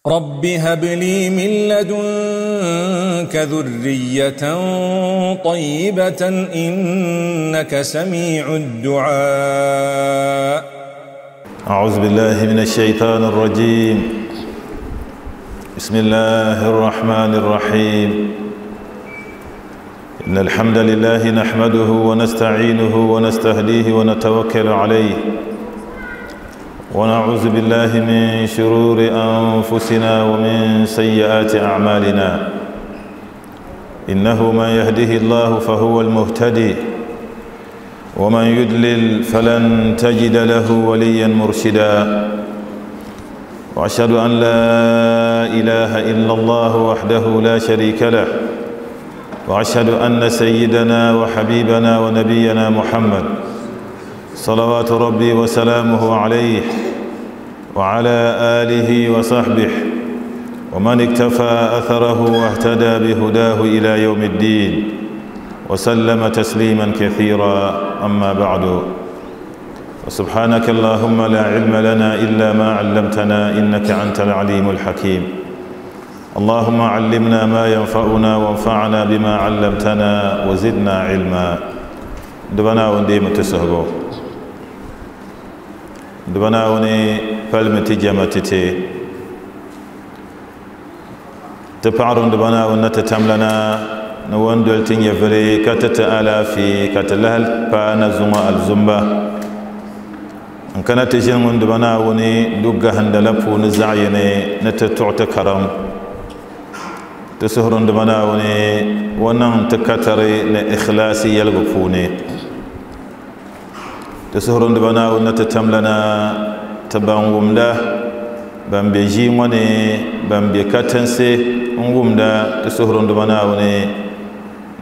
رب هب لي من لدنك ذرية طيبة إنك سميع الدعاء. أعوذ بالله من الشيطان الرجيم. بسم الله الرحمن الرحيم. إن الحمد لله نحمده ونستعينه ونستهديه ونتوكل عليه، ونعوذ بالله من شرور أنفسنا ومن سيئات أعمالنا. إنه من يهده الله فهو المهتدي، ومن يدلل فلن تجد له وليا مرشدا. وأشهد أن لا إله إلا الله وحده لا شريك له، وأشهد أن سيدنا وحبيبنا ونبينا محمد صلوات ربي وسلامه عليه وعلى آله وصحبه ومن اكتفى أثره واهتدى بهداه إلى يوم الدين وسلم تسليما كثيرا. أما بعد، وسبحانك اللهم لا علم لنا إلا ما علمتنا إنك أنت العليم الحكيم. اللهم علمنا ما ينفعنا وانفعنا بما علمتنا وزدنا علما. دبنا وندي متسهبو دبنا وني فالمتي جمتتي تبعرون دبنا ونتتملنا نوندل تنيفري كتتألا في كتلهل فانا الزنبا. إن كانت تجين دبنا وني دقة هندلفو نزعيني نتتعت كرم تسهرون دبنا وني ونن تكتري لإخلاصي يلغفوني تسهرون دبنا ونتتملنا تبان ومدا بان بيجي وني بان بيكاتنسي ومدا تسهرون دبنا وني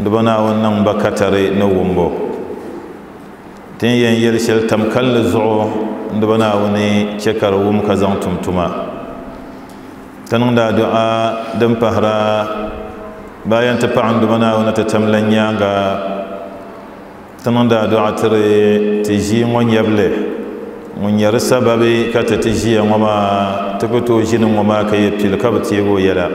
دبنا ونن بكتري نومبو تين ين يرشل تمكل زعو دبنا وني شكر وم كزان تمتما تنون دعاء دم پهرا باين تپعن دبنا ونتتملن يانغا تنون دعاء تري تجي ون يبلي ون يرسببي كتتجي وما تكتو جين وما كيبتل كبتيغو يلا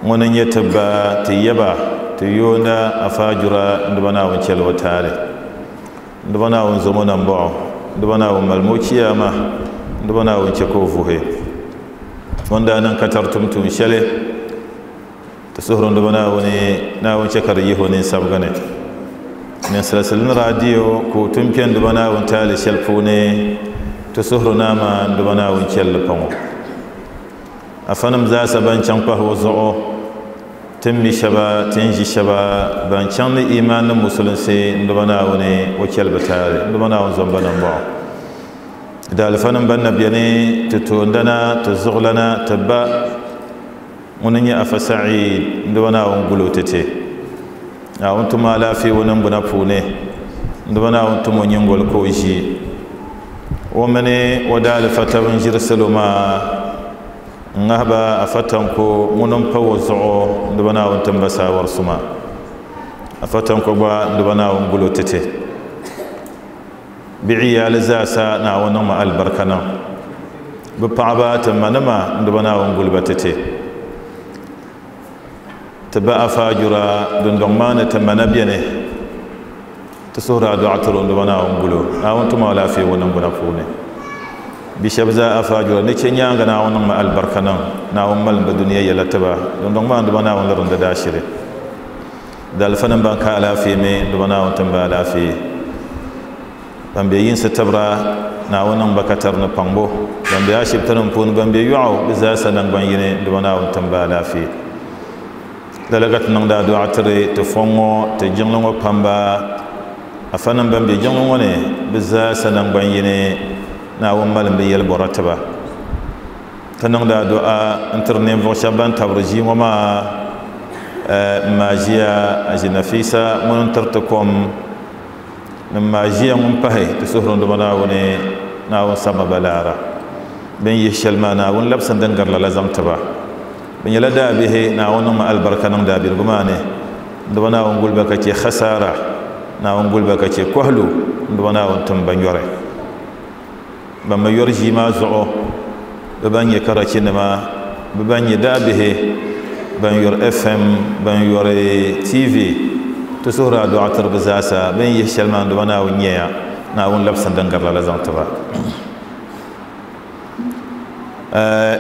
ونن يتبا تيبا تيونا أفاجرا دبنا ونشل وتالي دبنا ونزمونا مبعو دبنا ونمالموشيا ما دبنا ونشكوفوهي wanda nan katar tumtum shele ta suhurun da bana wani na wance kar yi honin sabgane ne salasalin radio ko tumpiyan da bana wani tali shelfu ne ta suhuru nama da bana wani kelfango a fanam za sa ban can kwaho zo'o tun mi shaba tun ji shaba ban can ni imanin musulunci da bana wani wakil batare da bana wani zombanan ba da alfanin ban na biyane ta tondana ta zuglana ta ba wani ya afa sa'i da wani awon gulo ta te a wani tuma lafi wani buna fune da wani awon tumo yin golko shi wani wada alfata bin jirsalu ma ngaba a fatan ko wani fawo zu'o da wani awon tambasawar suma a fatan ko ba da wani awon gulo ta te بعيال زاسا ناونا ما البركنا ببعبا تمنما دبنا ونقول بتتي تبا فاجرا دندمان تمنا بينه تسورة دعترون دبنا ونقولو ناون تما لا في ونقول فونه بشبزا أفاجرا نتشنيا ناونا ما البركنا ناون مال بدنيا يلا تبا دندمان دبنا ونلرن داشري دالفنن بانك على في مي دبنا ونتبا لا في ban be yinsi tibira naawuni niŋ ba katari ni paŋbo ban be ashibiti nim puuni ban be yɔɣu bi zaasa naŋgban yini di ba naawuni timba alaafee lala ka ti niŋdi adu'a tiri ti fɔŋ ŋɔ ti jiŋli ŋɔ pamba afanim ban be jiŋli ŋɔ ni bi zaasa naŋgban yini naawuni malim bi yɛli bɔra tiba ti niŋdi adu'a n tiri ninvuɣu shɛba ban tabiri ʒii ŋɔ maa n maa ʒiya Aji Nafisa ŋuni n tiri ti kom نما جي من پهي تسهرون دبنا وني ناون سما بلارا بن يشل ما ناون لبسن دنگر لازم تبا بن يلا به ناون ما البركه نون دابير غمانه دبنا ون قول بك خساره ناون قول بك كهلو دبنا ون تم بنيوره بما يورجي ما زعو Bɛ ban nyɛ karachinima, bɛ ban nyɛ daabihi, ban yori FM, ban yori TV. Ti suhuri addu'a tiri bɛ zaasa, bɛ ni yihi shɛli maa n-duma Naawuni nyɛya, Naawuni labisi din gari lala zaŋ ti ba.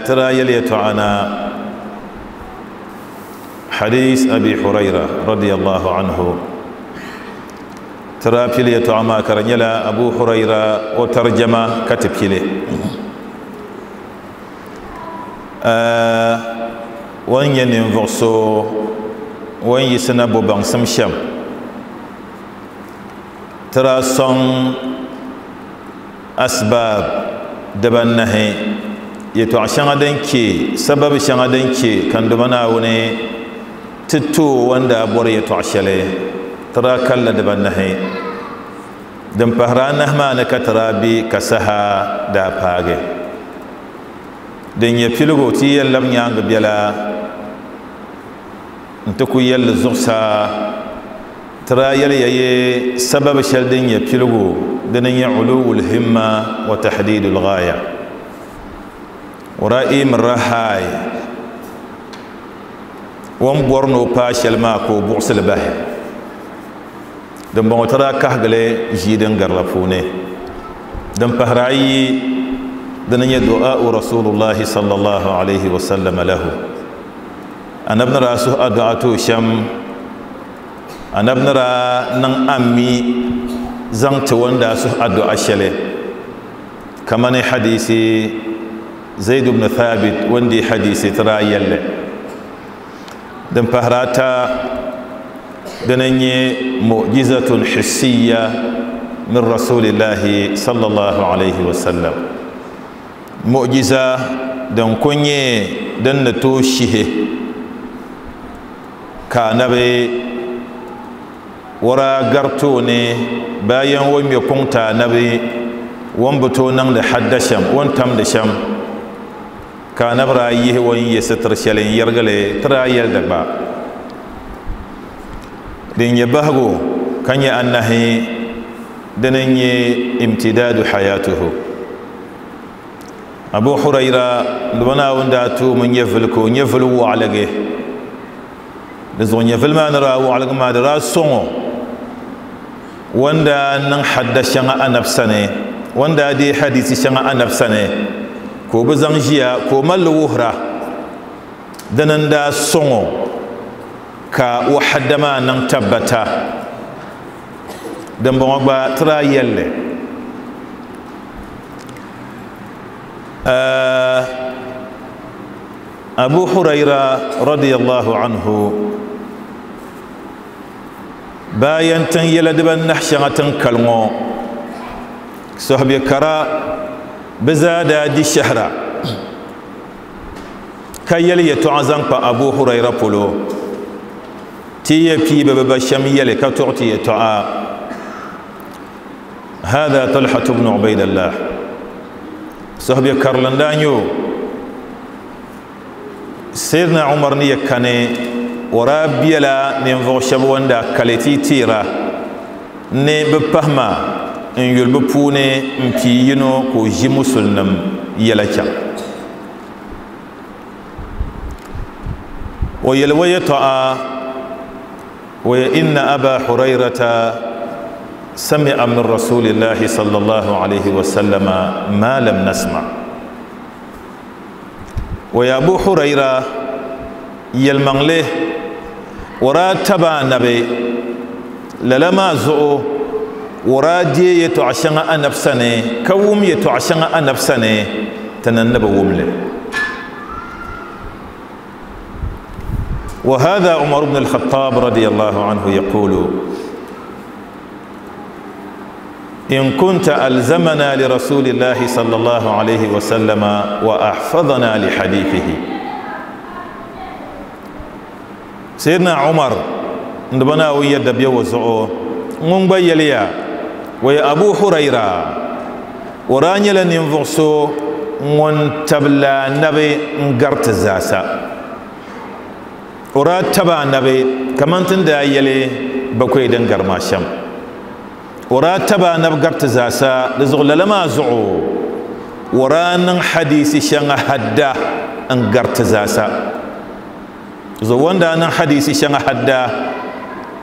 Ti daa yɛli yɛtɔɣa na hadis Abi Huraira radiyallahu anhu. Ti daa pili yɛtɔɣa maa ka di nyɛla Abu Huraira o tarjama ka ti pili. O ni nyɛ ninvuɣ so o ni yiɣisi na bo baŋsim shɛm, ti daa sɔŋ asbaab dibanahi, yɛtɔɣ shɛŋa din che, sababi shɛŋa din che ka n Duuma Naawuni ti ti o o ni daa bɔri yɛtɔɣ shɛli, ti daa kalila dibanahi. Din pahiri anahi maa ni ka ti daa be ka saha daa paagi. Din nyɛ piligu ti yɛn labi nyaaŋa biɛla nti ku yɛlli zuɣusaa. Ti daa yɛli ya yi sababi shɛli din nyɛ piligu dini nyɛ uluwul himma wa tahdidul ghaya. O daa imirila haai o ni bɔri ni o paai shɛli maa ka o buɣisi li bahi. Dimbɔŋɔ ti daa kahigi li ʒii din gari la puuni. Din pahiri ayi dini nyɛ du'a'u Rasulullahi sallallahu alayhi wa sallam lahu. Anabi ni daa suhi adu'a ti o shɛm, Anabi ni daa niŋ ammi zaŋ ti o ni daa suhi adu'a shɛli, kamani hadisi Zaid ibn Thabit o ni deei hadisi ti daa yɛlli. Din pahiri ata dini n-nyɛ mu'jizatun hissiya min Rasulillahi sallallahu alayhi wa sallam. Mu'jiza din ku nyɛ din ni tooi shihi ka anabi o daa gari tooni bayan o ŋmɛ kuŋ ti anabi o ni bi tooi niŋdi hadda shɛm, o ni tamdi shɛm, ka anabi daa yihi o ni ye sitiri shɛli n-yɛrigi li ti daa yɛli di gba. Din nyɛ bahigu ka nyɛ anahi dini n-nyɛ imtidaadu hayatuhu. Abu Huraira Duuma Naawuni daa tuumi nyɛvili ka o nyɛvili waɣiligi. Di zuɣu nyɛvili maa ni daa waɣiligi maa di daa sɔŋ o o ni daa niŋ hadda shɛŋa anabi sani, o ni daa deei hadiisi shɛŋa anabi sani ka o bi zaŋ ʒiya ka o mali li wuhira. Dini n-daa sɔŋ o ka o hadda maa niŋ tabbata. Dimbɔŋɔ gba ti daa yɛli li. Abu Huraira radiyallahu anhu bayan tin yɛla dibanahi shɛŋa tin kali ŋɔ sahabi kara bɛ zaa daa di shɛhira ka yɛli yɛtɔɣa zaŋ kpa Abu Huraira polo ti yɛ pii bɛ ba shɛm yɛli ka tuɣi ti yɛtɔɣa. Hada Talhatu bnu Ubaidallah sahabi karili n daa nyɛ o. Sayyidina Umar ni yɛ kani o daa biɛla ninvuɣu shɛba ŋun daa kali ti teera ni bɛ pahima n yuli bɛ puuni n pii yino ka o ʒi musulinim yɛla chaŋ. O yɛli o yɛtɔɣa o yɛ inna Aba Hurairata sami'a min Rasulillahi sallallahu alayhi wa sallama ma lam nasma. O yɛ Abu Huraira yɛlimaŋli o daa taba anabi lala maa zuɣu o daa deei yɛtɔɣa shɛŋa anabi sani ka wum yɛtɔɣa shɛŋa anabi sani ti ni ni bi wum li. وهذا عمر بن الخطاب رضي الله عنه يقول إن كنت ألزمنا لرسول الله صلى الله عليه وسلم وأحفظنا لحديثه. سيدنا عمر ندبنا ويد بيوزعو ŋun gba yɛliya o yɛ Abu Huraira o daa nyɛla ninvuɣ so ŋun tabila anabi n gari ti zaasa. O daa taba anabi kamani ti ni daa yɛli bakwai din gari maa shɛm. O daa taba anabi gari ti zaasa, di zuɣu lala maa zuɣu Waranin hadisi shɛŋa hadda n gariti zaasa. Zuɣu wanda niŋ hadisi shɛŋa hadda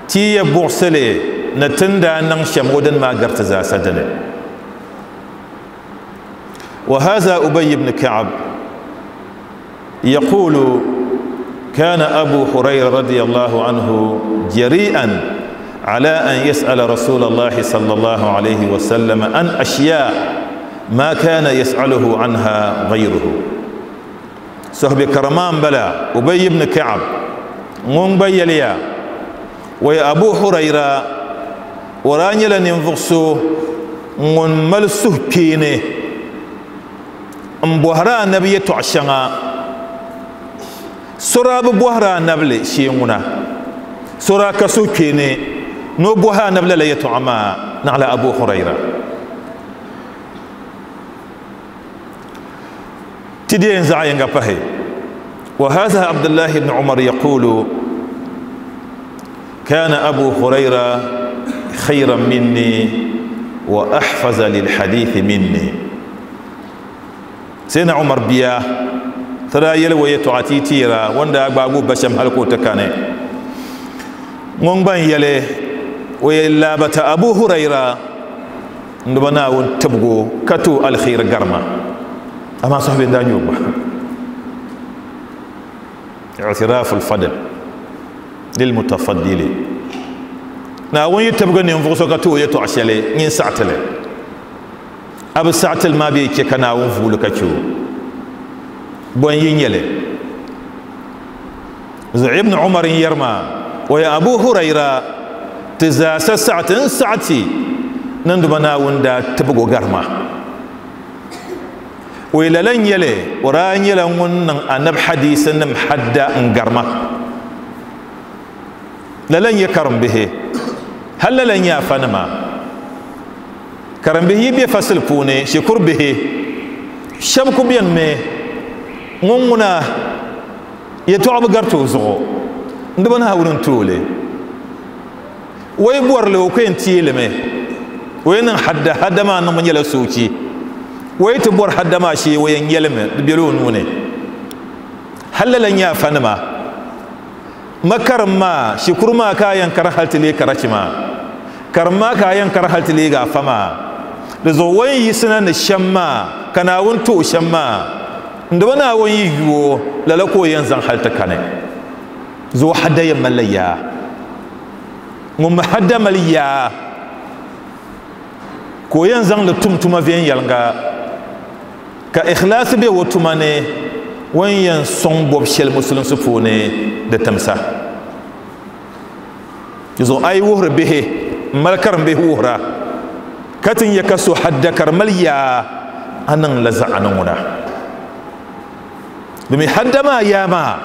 ti ya buɣisili ni tin daa niŋ shɛm o dini maa gariti zaasa dini. وهذا أبي بن كعب يقول كان أبو هريرة رضي الله عنه جريئا على أن يسأل رسول الله صلى الله عليه وسلم عن أشياء ما كان يسأله عنها غيره. صحب كرمان بلا أبي بن كعب ŋun gba yɛliya ويا أبو هريرة وراني nyɛla ninvuɣ so ŋun mali suhukpeeni n bɔhiri anabi yɛltɔɣa shɛŋa sora bi bɔhiri anabili shee ŋuna sora ka suhukpeeni ni o bɔhi anabi lala yɛltɔɣa maa naɣila Abu Hurayra ti di yɛn zaɣ yinga pahi. وهذا عبد الله بن عمر يقول كان أبو هريرة خيرا مني وأحفظ للحديث مني. سيدنا عمر بيا ترى يلوي يتعتي تيرا وندا أقباغو بشم هلكو تكاني ŋun yɛli o yɛ laabata Abu Hurayra ndoba Naawuni tibgo ka to alkhair garma amma sahbi daa nyɛ gba i'tirafu alfadl lilmutafaddili Naawuni yi tibgi ninvuɣu so ka to o yɛltɔɣa shɛli nyin saɣatili a bi saɣatili maa bee chɛ ka Naawuni vuuli ka chɛ o bɔn yi nyɛli zuɣu Ibn Umar n yɛri maa ويا أبو هريرة تزاس ساعة ساعتي نندم ناوندا تبغو غرما وإلى لن يلي وران يلي ون أنب حديث نم حدا غرما لن يكرم به هل لن يافنما كرم به يبي فصل بوني شكر به شبكو بين مي ŋun yɛltɔɣa bi gariti o zuɣu ndiba Naawuni n tooli o yi bɔrili o ku yɛn teelimi o yi niŋ hadda hadda maa niŋbu nyɛla soochi o yi ti bɔri hadda maa shee o yɛn nyɛlimi di bɛla o nuuni hali lala nyɛ afa nima ma karim maa shikuru maa ka a yɛn kari hali ti lee karachi maa karim maa ka a yɛn kari hali ti leegi afa maa di zuɣu o ni yiɣisina ni shɛm maa ka Naawuni ti o shɛm maa ndiba Naawuni yi yuo lala ka o yɛn zaŋ hali ti kani zuɣu hadda yɛn malila yaa ŋun mi hadda mali yaa ka o yɛn zaŋli tum tuma viɛnyɛlinga ka ikhlaasi bɛ o tuma ni o ni yɛn sɔŋ bɔbu shɛli musulinsi puuni di timsa zuɣu a yi wuhiri bihi n mali karim bihi wuhira ka ti nyɛ ka so hadda ka di mali yaa a niŋ la zaɣa ni ŋuna domin hadda maa yaa maa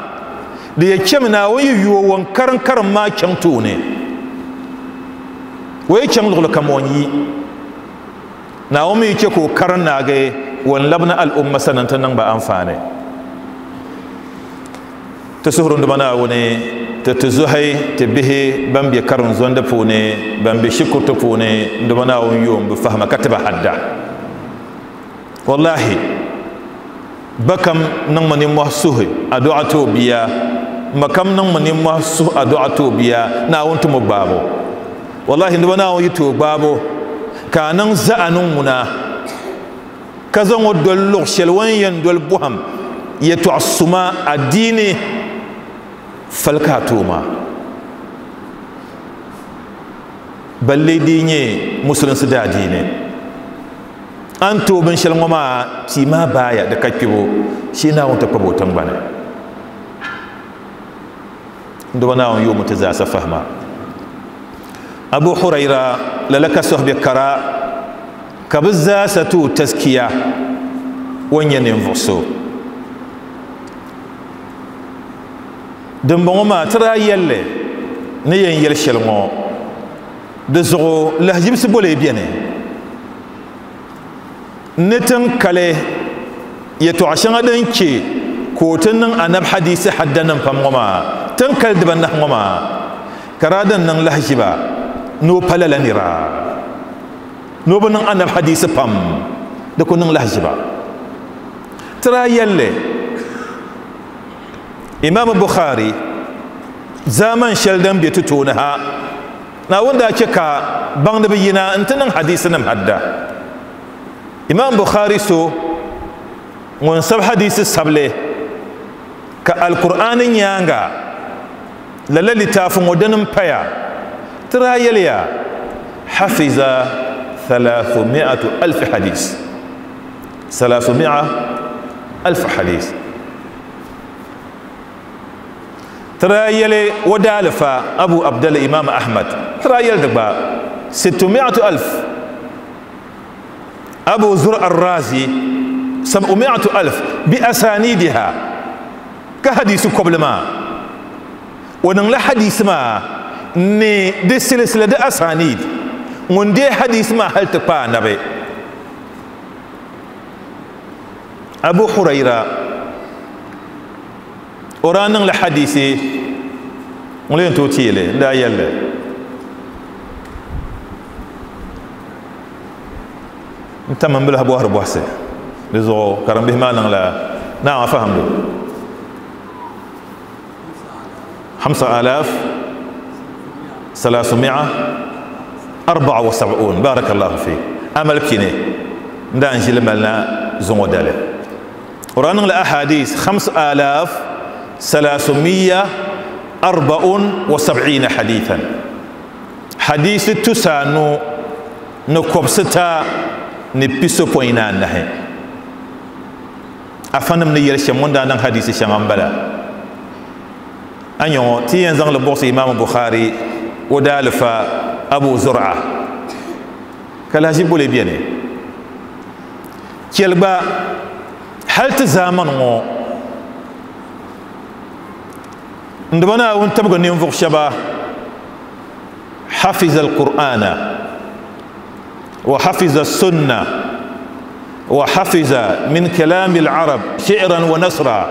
di yɛ chɛmi Naawuni yi yuo wan karim karim maa chaŋ tooni o yi chaŋ luɣuli kam o yi Naawuni mi yi chɛ ka o karim naagi wan labina al'umma sani n-ti niŋ ba anfaani ti suhurinduma Naawuni ti ti zuhi ti bihi ban be karim zondi puuni ban be shikuriti puuni nduma Naawuni yoom bi fahima ka ti ba hadda wallahi bakam niŋmi nimmohi suhi addu'a ti o bia makam niŋmi nimmohi suhi addu'a ti o bia Naawuni ti mo gbaabu wallahi nduma Naawuni yi ti o gbaabu ka a niŋ zaɣa ni ŋuna ka zaŋ o doli luɣ shɛli o ni yɛn doli bɔhim yɛltɔɣa suma adiini fali ka a tooi maa balle di nyɛ musulinsi daadiini an tooi binshɛli ŋɔ maa tia maa baaya di ka kpibu shee Naawuni ti kpabi o tingbani nduba Naawuni yoomi ti zaasa fahima Abu Hurayra lala ka sohbi kara ka bi zaasa ti o taskiya o nyɛ ninvuɣ so dimbɔŋɔ maa ti daa yɛlli ni yɛn yɛli shɛli ŋɔ di zuɣu lahajibisi bole bɛni ni tin kali yɛltɔɣa shɛŋa din chɛ ka o ti niŋ anabi hadisi hadda nim pam ŋɔ maa tin kali dibanahi ŋɔ maa ka daa din niŋ lahajiba ni o pa lala nira ni o bi niŋ anabi hadisi pam di ku niŋ lahajiba. Tira yɛlli Imam Bukhari zaman shɛli din be ti tooni ha, Naawuni daa che ka baŋdiba yina nti niŋ hadisinim hadda. Imam Bukhari so ŋun sabi hadisi sabili ka Alkur'aani nyaaŋa lala litaafi ŋɔ dini m-paya, tira yɛliya hafiza thalathumi'atu alfi hadis. Thalathumi'a alfi hadis. Tira yɛli o daalifa Abu Abdallah Imam Ahmad, tira yɛli di gba sittumi'atu alf. Abu Zur'a Ar-Razi sab'umi'atu alf bi asanidiha, ka hadisi kobili maa o niŋla hadisi maa ni di silisila di asanid, ŋun deei hadisi maa hali ti kpa anabi. Abu Huraira o daa niŋla hadisi ŋun lee tooi teeli n daa yɛlli n tam n bilahi bɔhiri bɔhisi di zuɣu karimbihi maa niŋla naam a fahamdu hamsa alaf salasumia arba'a wa sab'un. Barakallahu fi amal pini n daa n ʒili malina zuŋɔ dali o daa niŋla ahadis 5374 hadithan, hadisi 394. Afanim ni yɛli shɛm ŋun daa niŋ hadisi shɛŋa n bala. A nyɛ ti yɛn zaŋli buɣisi Imam Bukhari o daalifa Abu Zur'a ka lahaʒi boli beni chɛli gba hali ti zaamani ŋɔ n diba Naawuni tibigi ninvuɣu shɛba hafiza al-Qur'ana wa hafiza sunna wa hafiza min kalami al-arab shi'ran wa nasra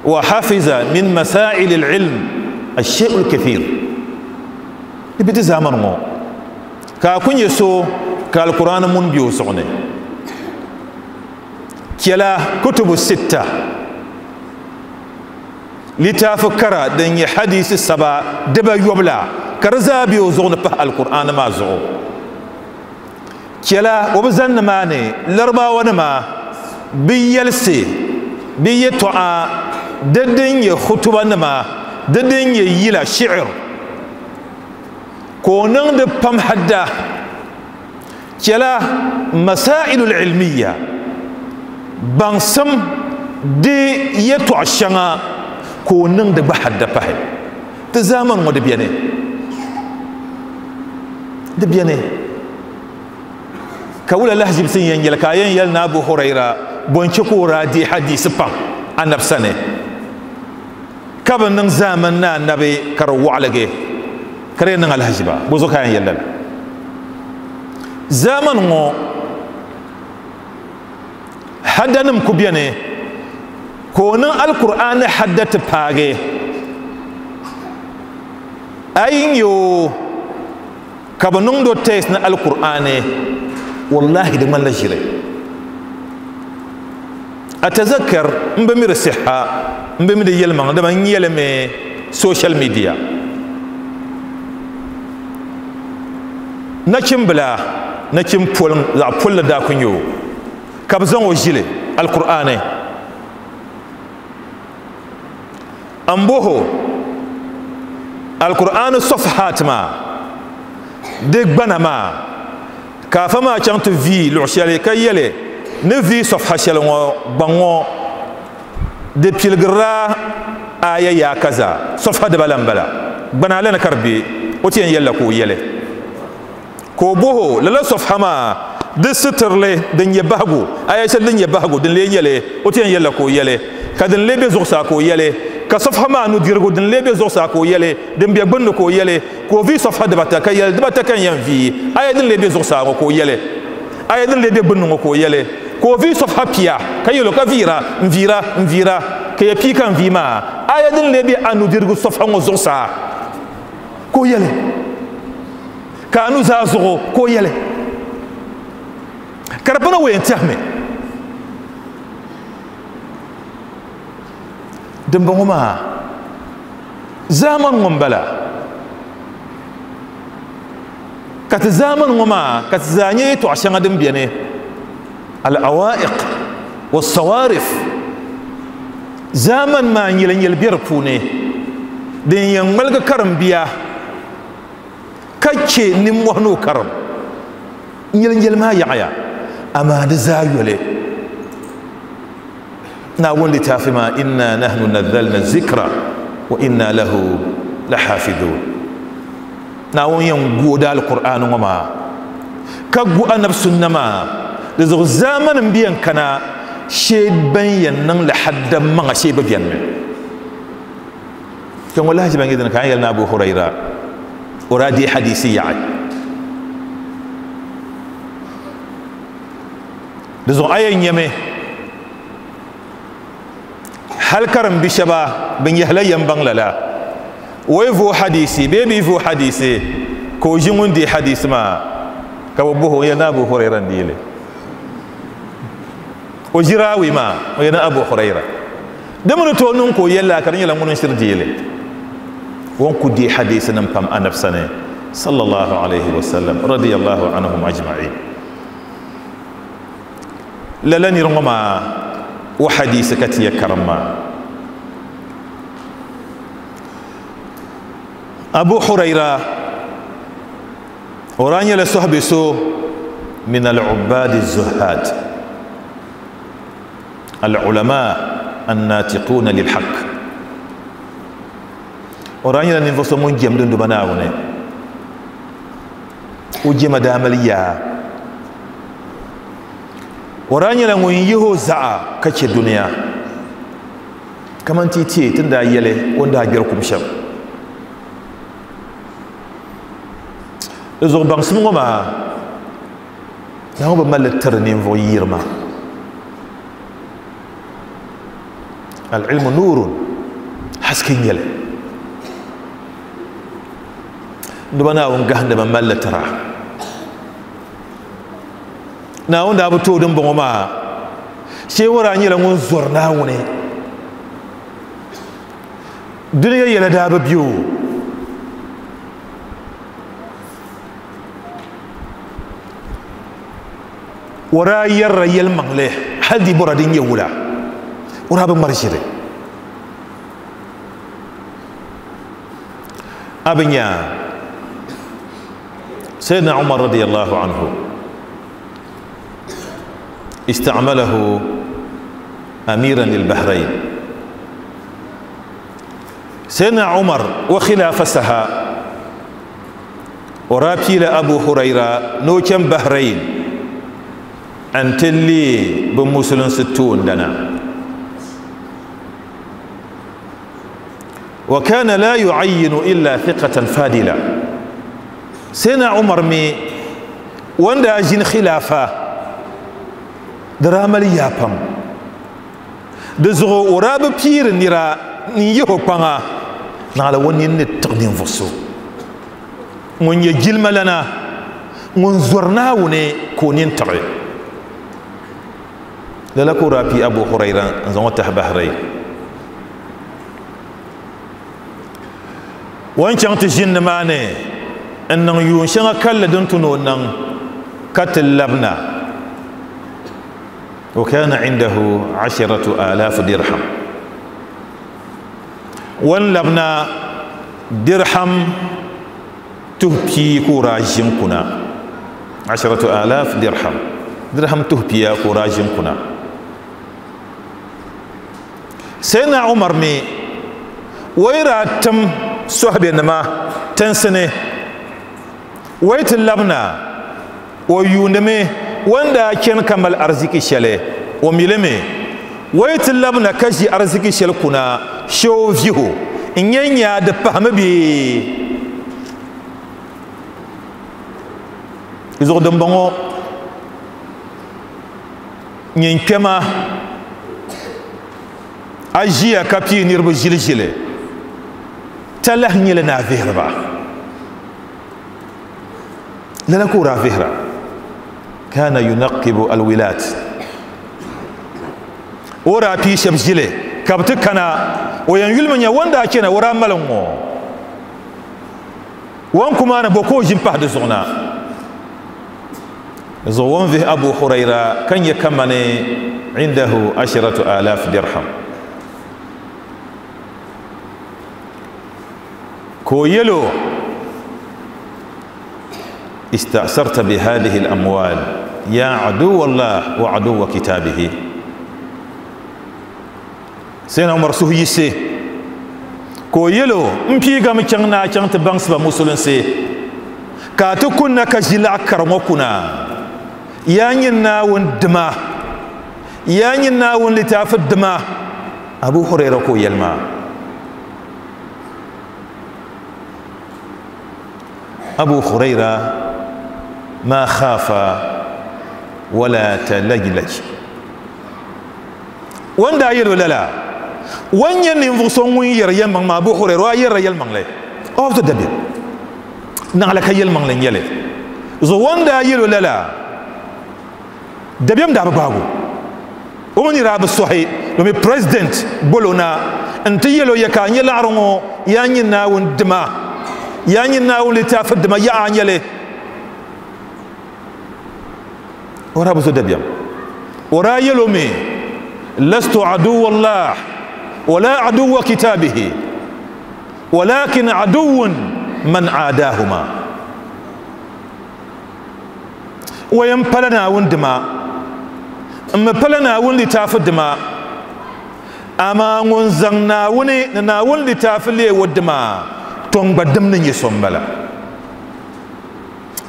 wa hafiza min masail al-ilm al-shay'u al-kathir. Di bi ti zaamani ŋɔ ka a ku nyɛ so ka al-Qur'an mun be o zuɣu ni chɛla kutubu sitta litaafi kara din nyɛ hadisi saba diba yobla ka di zaa be o zuɣu ni pahi al-Qur'an maa zuɣu. Chɛla o bi zani nimaani Larabawa nima bi yɛlisi bi yɛtɔɣa di din nyɛ khutuba nima di din nyɛ yila shi'ir ka o niŋdi pam hadda. Chɛla masailu al-ilmiya baŋsim di yɛtɔɣa shɛŋa ka o niŋdi gba hadda pahi. Ti zaamani ŋɔ di beni, di beni ka wula lahaʒibisi n yɛn yɛli ka a yɛn yɛli ni Abu Huraira bɔnche ka o daa deei hadisi pam anabi sani ka bi niŋ zaamani ni anabi ka di waɣaligi ka di yɛn niŋ alahaʒiba bɔ zuɣu ka a yɛn yɛli lala. Zaamani ŋɔ haddanim ku beni ka o niŋ Alkur'aani hadda ti paagi a yi nyɛ o ka bi niŋdi o test ni Alkur'aani, wallahi di ŋmanila ʒili. Atazakkar n bi mi di siha n bi mi di yɛlimaŋ dama n yɛlimi social media nachimbila nachim poliŋ zaɣ polli daa ku nyɛ o ka bi zaŋ o ʒili Alkur'aani n boho Alkur'aani sɔfahat maa di gbana maa ka afa maa chaŋ ti vii luɣu shɛli ka yɛli ni vii sɔfaha shɛli ŋɔ gbaŋ ŋɔ di piligirila aya yaa kaza sɔfaha dibala n bala gbana lana ka di be o ti yɛn yɛlila ka o yɛli ka o boho lala sɔfaha maa di sitirili din nyɛ bahigu aya shɛli din nyɛ bahigu din lee nyɛli o ti yɛn yɛlila ka o yɛli ka din lee be zuɣusaa ka o yɛli ka sɔfaha maa nudirigu din lee be zuɣusaa ka o yɛli din be gbunni ka o yɛli ka o vii sɔfaha dibata ka yɛli dibata ka n yɛn vii aya din lee be zuɣusaa ŋɔ ka o yɛli aya din lee be gbunni ŋɔ ka o yɛli ka o vii sɔfaha pia ka yɛlo ka viira n viira n viira ka ya pii ka n vii maa aya din lee be a nudirigu sɔfaha ŋɔ zuɣusaa ka o yɛli ka a nuzaa zuɣu ka o yɛli ka di pana o yɛn tɛhimi. Dimbɔŋɔ maa zaamani ŋɔ m-bala ka ti zaamani ŋɔ maa ka ti zaa nyɛ yɛtɔɣ shɛŋa din beni al-awaiq wa-sawarif zaamani maa nyɛlinyɛli be di puuni din yɛn ŋmaligi karimbiya ka che nimmɔhi ni o karim nyɛlinyɛli maa yaɣiya amaa di zaa yoli Naawuni litaafi maa inna nahnu nazzalna zikra wa inna lahu lahafidhun. Naawuni yɛn gu o da Alkur'aani ŋɔ maa ka gu Anabi sunna maa. Di zuɣu zaamani m-bi yɛn kana shee ban yɛn niŋ li hadda maŋa shee bi beni mi. Kpɛŋɔ lahiʒiba n-nyɛ dini ka a ni yɛli ni Abu Huraira o daa deei hadiisi yaɣi. Di zuɣu a yɛn nyami hali karimbi shɛba bɛ nyɛhila yɛm baŋ lala o yi vooi hadiisi bee bɛ yi vooi hadiisi ka o ʒi ŋun deei hadiisi maa ka bɛ bɔhi o yɛli ni Abu Huraira n-deei li o ʒi raawi maa o yɛli ni Abu Huraira di mi ni tooi niŋ ka o yɛli lala ka di nyɛla ŋuni n-shiri deei li o ni ku deei hadiisinim pam Anabi sani sallallahu alayhi wa sallam radiyallahu anhum ajma'in. Lala niri ŋɔ maa o hadiisi ka ti ya karim maa. Abu Huraira o daa nyɛla sɔhibe so min al-ubbad az-zuhad al-ulama an-natiquna lil-haqq. O daa nyɛla ninvuɣ so ŋun jɛmdi Duuma Naawuni. O jɛma daa mali yaa. O daa nyɛla ŋun yihi o zaɣa ka chɛ dunia kaman ti tiɛ ti ni daa yɛli o ni daa gbɛri kum shɛm. Di zuɣu baŋsim ŋɔ maa Naawuni bi mali li tiri ninvuɣ yirima. Al-ilmu nuurun, haske n-nyɛ li. Duba Naawuni gahindimi mali li tira. Naawuni daa bi tooi dimbɔŋɔ maa shee o daa nyɛla ŋun zɔri Naawuni. Dunia yɛla daa bi be o. O daa yɛrila yɛlimaŋli hali di bɔra din nyɛ wula. O daa bi ŋmari ʒiri. A bi nya Sayyidina Umar radiyallahu anhu ista'malahu amiran lil Bahrain. Sayyidina Umar wa khilafa saha o daa piila Abu Huraira ni o chaŋ Bahrain n-ti leei bɛ musulinsi toondana. Wa kana la yu'ayyinu illa thiqatan fadila. Sayyidina Umar mi o ni daa ʒini khilaafa di daa mali yaa pam. Di zuɣu o daa bi piiri nira n-yihi o kpaŋa naɣila o nini ni tiɣi ninvuɣ so ŋun nyɛ jilimalana ŋun zɔri Naawuni ka o nini tiɣi. Lala ka o daa pii Abu Huraira n-zaŋ o tahi Bahrain. O ni chaŋ ti ʒini nimaani n-niŋ yuun shɛŋa kalinli din tu ni o niŋ ka ti labina. Wa kana indahu asharatu alaaf dirham. O ni labina dirham tuhi pia ka o daa ʒi n-kuna. Asharatu alaaf dirham. Dirham tuhi pia ka o daa ʒi n-kuna. Sayyidina Umar mi o yi daa tim sɔhibenima tinsi ni o yi ti labina o yuundimi o ni daa chani ka mali ariziki shɛli o mi li mi o yi ti labina ka ʒi ariziki shɛli kuna shee o vihi o n-nyɛ nyaa di pahimi bee? Di zuɣu dimbɔŋɔ nyin kpɛma a ʒiya ka pii niriba ʒiliʒili talahi nyɛli ni a vihiri ba. Lala ka o daa vihira. Kana yunaqibu alwilat. O daa pii shɛba ʒili ka bɛ ti kana O yɛn yulimi nya o ni daa chana o daa mali ŋ-ŋɔ. O ni ku maani bo ka o ʒi m-pahi di zuɣu na. Di zuɣu o ni vihi Abu Huraira ka nya kamani indahu ashiratu alaf dirham. Ka o yɛl o, Ista'sarta bi hadhihi al-amwal ya aduwwa Allah wa aduwwa kitabihi. Sayyidina Umar suhu yiɣisi ka o yɛl o, M piigami chaŋ ni a chaŋ ti baŋsi ba musulinsi ka a ti kunna ka ʒi laɣ kara ŋɔ kuna. Yaa nyini Naawuni dima! Yaa nyini Naawuni litaafi dima! Abu Huraira ka o yɛli maa. Abu Huraira ma khafa wala talajlaj. O ni daa yɛl o lala, o ni nyɛ ninvuɣ so ŋun yɛri yɛlimaŋli maa, Abu Huraira, o daa yɛrila yɛlimaŋli, o bi ti dabiɛm, naɣila ka yɛlimaŋli n-nyɛ li. Zuɣu o ni daa yɛl o lala, dabiɛm daa bi gbaag o. O mi ni daa bi sɔhi, domi president bol o na nti yɛl o, Ya ka a nya laɣiri ŋɔ, yaa nyini Naawuni dima, yaa nyini Naawuni litaafi dima, ya a nya li? O daa bi zo dabiɛm. O daa yɛl o mi, Lastu aduwwa Allah wala aduwwa kitabihi walakin aduwwun man aadahuma. O yɛn pala Naawuni dima, m mi pala Naawuni litaafi dima, amaa ŋun zaŋ Naawuni ni Naawuni litaafi leei o dima, tɔ n gba dim ni nyɛ so m-bala.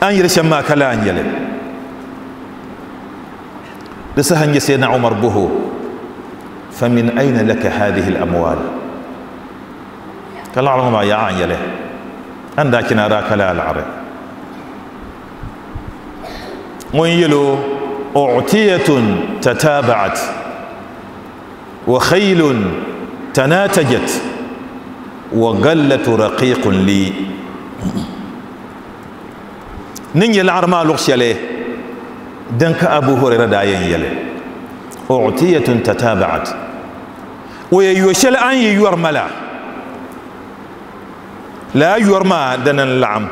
A ni yɛli shɛm maa ka laa n-nyɛ li. Di saha n-nyɛ Sayyidina Umar bɔh o, Famin ayna laka hadihi al-amwal? Ka laɣiri ŋɔ maa yaɣa n-nyɛ li. A ni daa chana a daa ka laa laɣiri. Ŋun yɛl o, U'tiyatun tataba'at wa khaylun tanatajat wa gallatu raqiqun li. Ni nyɛ laɣiri maa luɣ shɛli din ka Abu Huraira daa yɛn yɛli, U'tiyatun tataba'at, o yɛn yo shɛli a ni yi yɔri ma la, lala yɔri maa dini n-laɣim.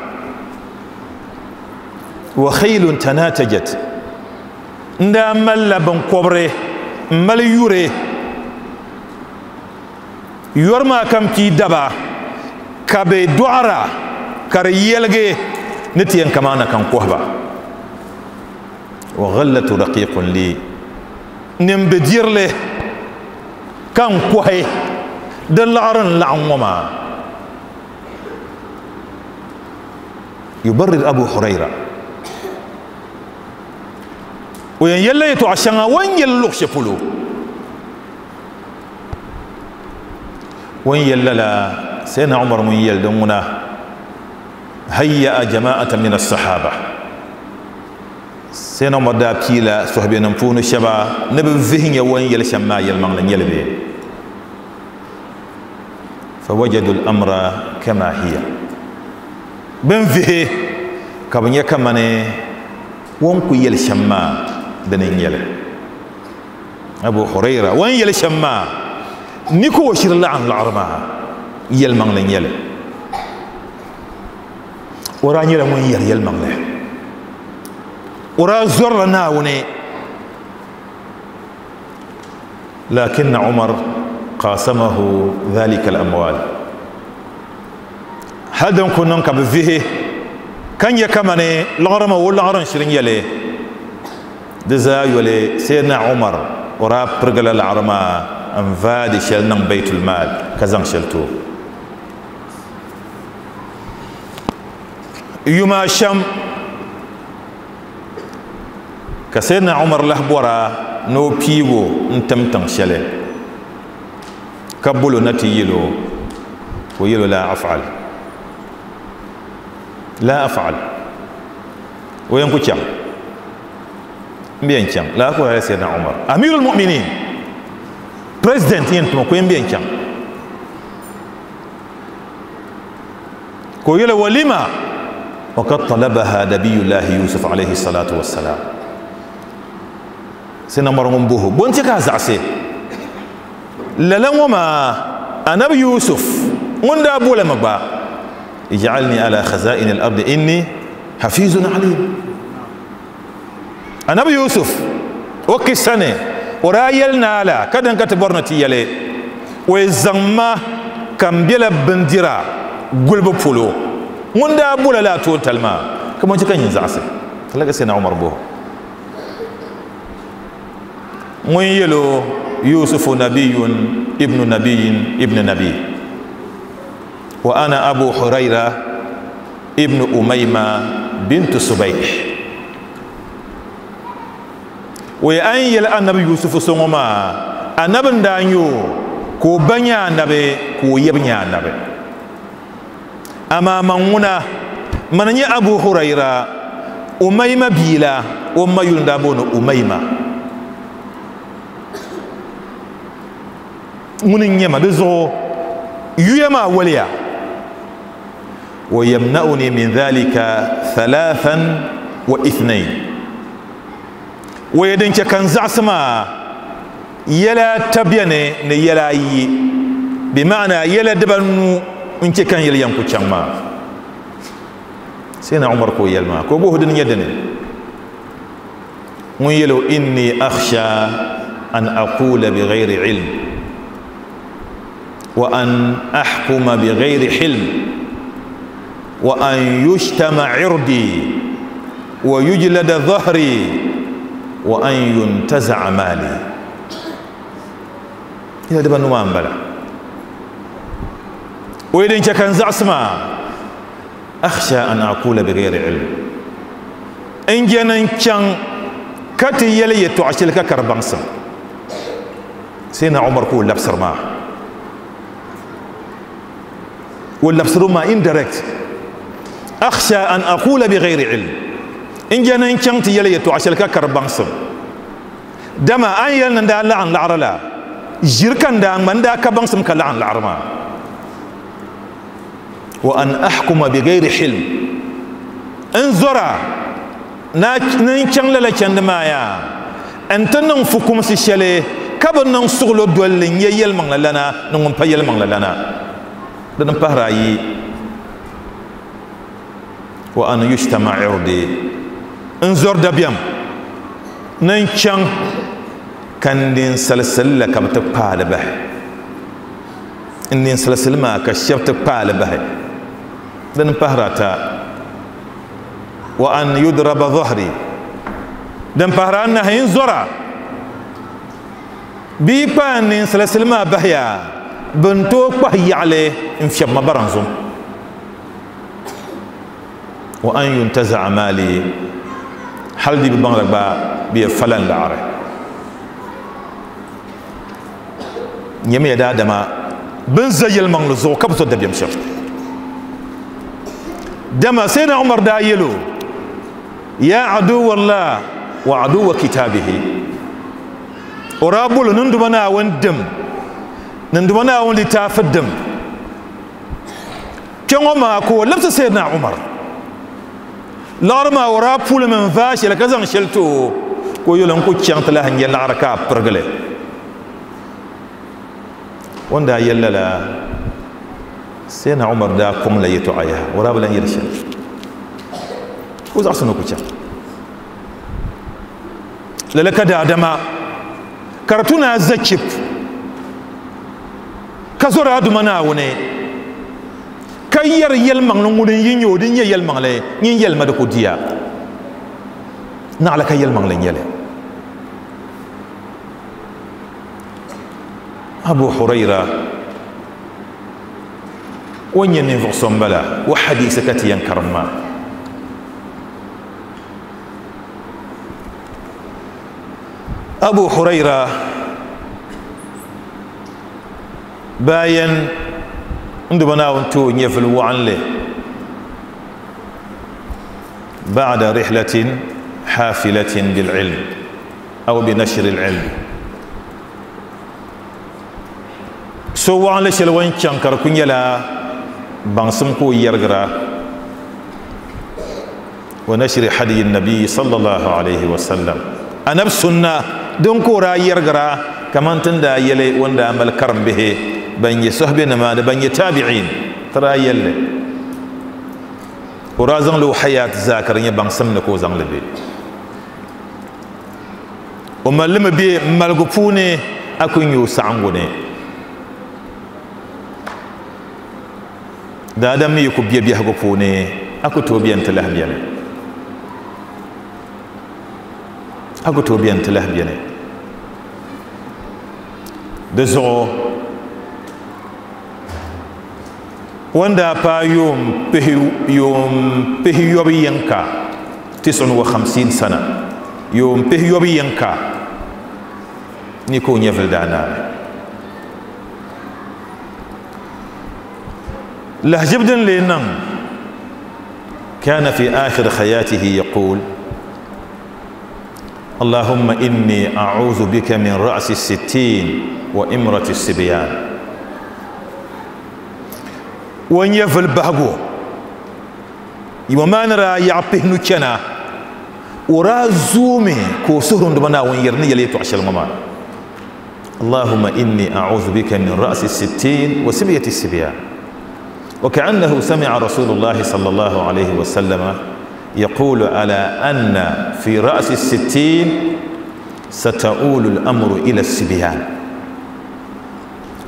Wa khaylun tanatajat, n daa malila binkɔbiri m-mali yuri yɔri maa ka m pii daba ka bɛ dɔɣira ka di yɛligi ni ti yɛn kamaana ka n kɔhi ba. Wa ghallatu raqiqun li, ni m bi dirili ka n kɔhi di liɣiri n laɣim ŋɔ maa. Yubarrir Abu Huraira, o yɛn yɛlila yɛtɔɣa shɛŋa o ni yɛli luɣ shɛli polo. O ni yɛli lala Sayyidina Umar ŋun yɛli din ŋuna, hayya'a jama'atan min as-sahaba. Sayyidina Umar daa piila sɔhibenim puuni shɛba ni bɛ vihi nya o ni yɛli shɛm maa yɛlimaŋli n-nyɛ li bee? Fawajadu al-amra kama hiya. Bɛ ni vihi ka bɛ nya kamani o ni ku yɛli shɛm maa dini n-nyɛ li. Abu Huraira, o ni yɛli shɛm maa ni ka o shiri laɣim liɣiri maa yɛlimaŋli n-nyɛ li. O daa nyɛla ŋun yɛri yɛlimaŋli. O daa zɔrila Naawuni. Lakinna Umar qasamahu dhalika al-amwal. Hal din ku niŋ ka bɛ vihi ka nya kamani liɣiri maa o liɣiri n-shiri nyɛ li. Di zaa yoli Sayyidina Umar o daa pirigila laɣiri maa n-vaai di shɛli niŋ Baitul Maal ka zaŋ shɛli ti o. Yuma shɛm ka Sayyidina Umar lahi bɔra ni o piigi o n-tim tiŋ shɛli ka bol o na ti yɛl o, ka o yɛl o laa af'al, laa af'al, o yɛn ku chaŋ, m bi yɛn chaŋ, lala ka o yɛli Sayyidina Umar, Amirul Mu'minin, President yɛn tuma ka o yɛn bi yɛn chaŋ. Ka o yɛli, Walima? Wa kad talabaha nabiyullahi Yusuf alayhi salatu wa salam. Sayyidina Umar ŋun boho, bo n-chɛ ka a zaɣisi lala ŋɔ maa? Annabi Yusuf ŋun daa bolimi gba ij'alni ala khaza'in al-ardi inni hafizun alim. Annabi Yusuf o kisa ni o daa yɛli naa la ka din ka ti bɔri ni ti yɛli o yi zaŋ ma ka n bela bindira gulibu polo ŋun daa bola laa toontali maa ka mo chɛ ka nyin zaɣisi lala ka Sayyidina Umar boho ŋun yɛl o Yusufu nabiyun ibnu nabiyin ibnu nabi wa ana Abu Hurayra ibnu Umayma bintu Subayh. O ye an yɛli anabi Yusufu so ŋɔ maa anabi n daa nyɛ o ka o ba nyɛ anabi ka o yab nyɛ anabi. Amaa man ŋuna mani nyɛ Abu Hurayra Umayma bia la, o ma yuli n daa booni Umayma. Ŋuni n nyɛ ma di zuɣu yuya maa waliya. Wa yamna'uni min dhalika thalathan wa ithnain. O ye din chɛ ka n zaɣisi maa yɛla ata beni ni yɛla ayi, bɛ maana yɛla dibanu n chɛ ka n yɛli yɛn ku chaŋ maa. Sayyidina Umar ka o yɛli maa ka o bɔhi dini nyɛ dini? Ŋun yɛli o inni akhsha an aqula bi ghayri ilm wa an ahkuma bi ghayri hilm wa an yushtama irdi wa yujlada dhahri wa an yuntaza'a mali. Yɛla dibanu maa n bala. O ye din chɛ ka n zaɣisi maa akhsha an aqula bi ghayri ilm, n je ni n chaŋ ka ti yɛli yɛtɔɣa shɛli ka kari baŋsim. Sayyidina Umar ka o labisiri maa, o labisiri maa indirect. Akhsha an aqula bi ghayri ilm, n je ni n chaŋ ti yɛli yɛtɔɣa shɛli ka kari baŋsim. Dama an yɛli ni n daa laɣim laɣiri la ʒiri ka n daa ŋma, n daa ka baŋsim ka laɣim laɣiri maa. Wa an ahkuma bi ghayri hilm, n zɔra ni n chaŋ lala chandi maa yaa n ti niŋ fukumsi shɛli ka bi niŋ suɣulo dolli n nyɛ yɛlimaŋli lana ni ŋun pa yɛlimaŋli lana. Dini pahiri ayi, wa an yushtama irdi, n zɔri dabiɛm ni n chaŋ ka n ninsalisili la ka bi ti kpaali bahi, n ninsalisili maa ka shɛba ti kpaali bahi. Dini pahiri ata, wa an yudraba dhahri, din pahiri anahi n zɔra bɛ yi kpaai n ninsalisili maa bahiya bɛ ni tooi kpahi yaɣili n fiɛbi ma baranzum. Wa an yuntaza'a mali, hali di bi baŋda gba bɛ yɛ fala n laɣiri. Nyamiya daadama bin za yɛlimaŋli zuɣu ka bi so dabiɛm shɛm. Dama Sayyidina Umar daa yɛl o ya aduwallah wa aduwa kitabihi, o daa boli ninduma Naawuni dim, ninduma Naawuni litaafi dim. Kpɛŋɔ maa ka o labisi Sayyidina Umar laɣiri maa, o daa pulimi n vaai shɛli ka zaŋ shɛli ti o ka o yɛli n ku chaŋ ti lahi nyɛ laɣiri ka a pirigili. O ni daa yɛli lala, Sayyidina Umar daa kɔŋ la yɛtɔɣa yaha, o daa bi lan yɛli shɛli, o zaɣisi ni o ku chaŋ. Lala ka daadama ka di tu ni a za chip ka zɔri a Duuma Naawuni ka yɛri yɛlimaŋli ŋuni n yi nyɛ o din nyɛ yɛlimaŋli nyin yɛlima di ku diya naɣila ka yɛlimaŋli n-nyɛ li. Abu Hurayra o nyɛ ninvuɣ so m-bala, o hadiisi ka ti yɛn karim maa. Abu Hurayra bayan n Duuma Naawuni ti o nyɛvili waɣinli ba'da rihlatin hafilatin bil ilm aw bi nashri al ilm. So waɣinli shɛli o ni chaŋ ka di ku nyɛla baŋsim ka o yɛrigira wa nashri hadiyi nabi sallallahu alayhi wa sallam, anabi sunna din ka o daa yɛrigira kaman ti ni daa yɛli o ni daa mali karimbihi Ban nyɛ sahibi nima ni ban nyɛ tabi'in tara yɛlli o daa zaŋli o hayat zaa ka di nyɛ baŋsim ni ka o zaŋli be o malimi be maligu puuni a ku nyɛ o saɣangu ni daadam mi yi ku be biɛhigu puuni a ku tooi beni ti lahi beni a ku tooi beni ti lahi beni di zuɣu wanda paai yuun pihiyobu yinka 59 sana yuun pihiyobu yinka ni ka o nyɛvili daa naai lahajib din lee niŋ kana fi akhir hayatihi yaqul اللهم إني أعوذ بك من رأس الستين وإمرة السبيان ونيفل بهغو يوما نرى يعبه نكنا ورا زومي كو سهرون دمنا ونيرني يلي تعشل ماما اللهم إني أعوذ بك من رأس الستين وسبية السبيان وكأنه سمع رسول الله صلى الله عليه وسلم يقول على أن في رأس الستين ستؤول الأمر إلى السبيان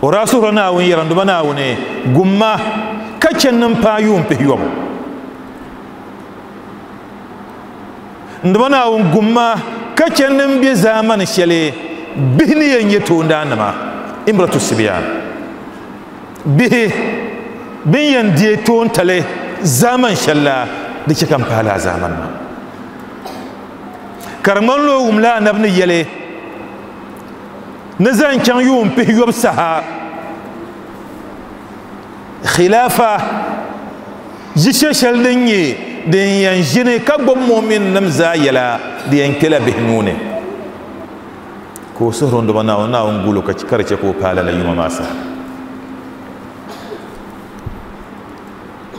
ورسولنا ويرندبنا وني قمة كتشن نمبايوم بهيوم ndibana wun gumma kachan nim be zaman shele bihni yen yeto ndanama imratu sibiyan bihi bin yan die ton tale zaman shalla di che kan pala zaman ma karman lo wumla nabni yele nizan chan yum pi yob saha khilafa jishe shel din yi din yan jini ka gbub mu'min nim zaa yɛla di yan kpela bihi nuuni ka o suhuri n duba Naawuni Naawuni gulo ka di chɛ ka o paai lala yuma maa saha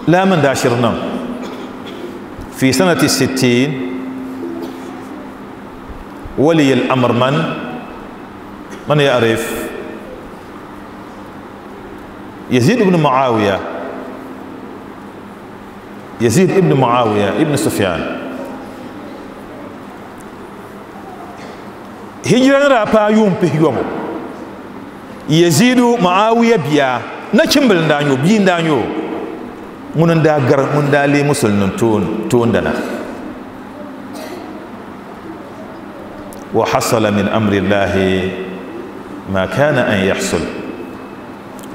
laa min daa shiri niŋ fi sanati 60 waliy al-amr man ya'rif Yazid ibn Muawiya يزيد ابن معاوية ابن سفيان هجرة رابا يوم بهيوم يزيد معاوية بيا نكمل دانيو بين دانيو من دا غر من دا لي مسلم تون دنا وحصل من أمر الله ما كان أن يحصل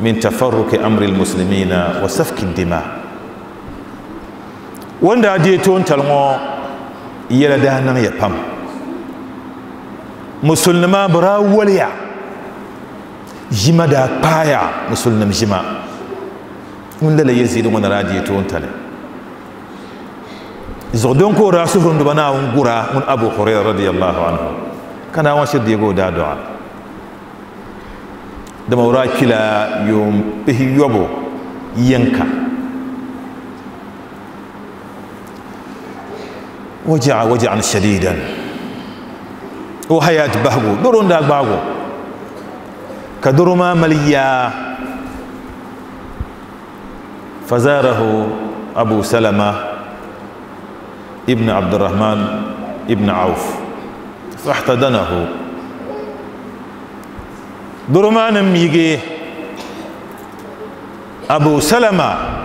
من تفرق أمر المسلمين وسفك الدماء wanda de ton talŋo yɛla daa niŋ ya pam musulima bira waliya ʒima daa kpaaya musulnim ʒima ŋun lala Yazid ŋɔ na daa dee toon tali zuɣu don ka o daa suhuri duba Naawuni gura ŋun Abu Huraira radiyallahu anhu ka Naawuni shiri deegi o daa du'a dama o daa kpila yuun pihiyobu yinka وجع وجعا شديدا وحياة بهجو درون داك باغو كدرما مليا فزاره أبو سلمة ابن عبد الرحمن ابن عوف فاحتضنه درما نميجي أبو سلمة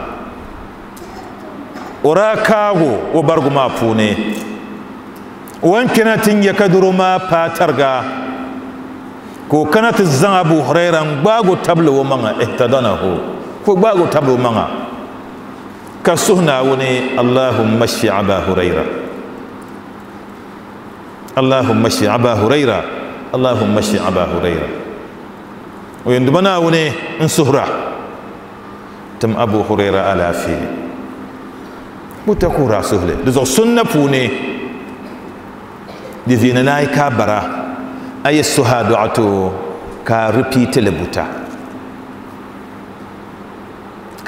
ora kaago o bargu maa puuni wan kena ti nyɛ ka doro maa paai tariga ka o kana ti zaŋ Abu Huraira n gbaago tabili o maŋa ihtadanahu ka o gbaago tabili o maŋa ka suhi Naawuni Allahumma shfi Aba Huraira Allahumma shfi Aba Huraira Allahumma shfi Aba Huraira o yɛn duba Naawuni n suhura tim Abu Huraira alaafee buta kura suhuli di zuɣu sunna puuni di viini naai ka bara a yi suha duɣato ka repeat li buta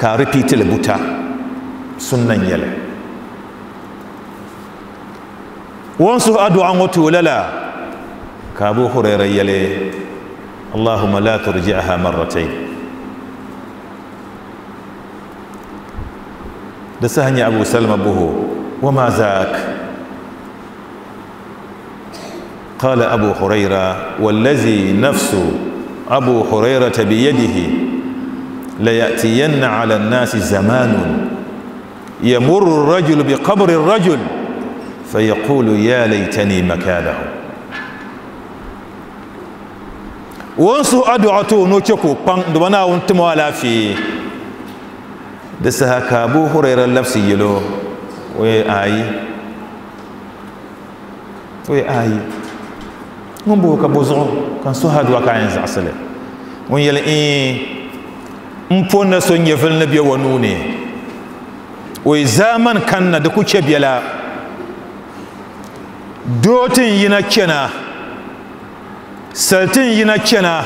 ka repeat li buta sunna n nyɛli won suhu adu'a ŋɔ to lala ka Abu Huraira yɛli Allahumma la turji'ha marratayn. Di saha nyɛ Abu Salama boho, Wama zaak? Qala Abu Huraira, Wallazi nafsu Abu Hurairata biyadihi layatiyanna ala nnasi zamanun yamurru rajulu biqabri rajul fayaqulu ya laytani makanahu. Won suhu adu'a to no che ko kpaŋ duba Naawuni timo alaafee. Di saha ka Abu Huraira labisi yɛlo, o ye ayi, o ye ayi, ŋun bo ka bo zuɣu ka n suhi adu'a ka a yɛn zaɣisi li. Ŋun yɛli iin, n po na so nyɛvili ni be o nuu ni, o yi zaamani kanna di ku chɛ biɛla, doo ti n yina chana, sali ti n yina chana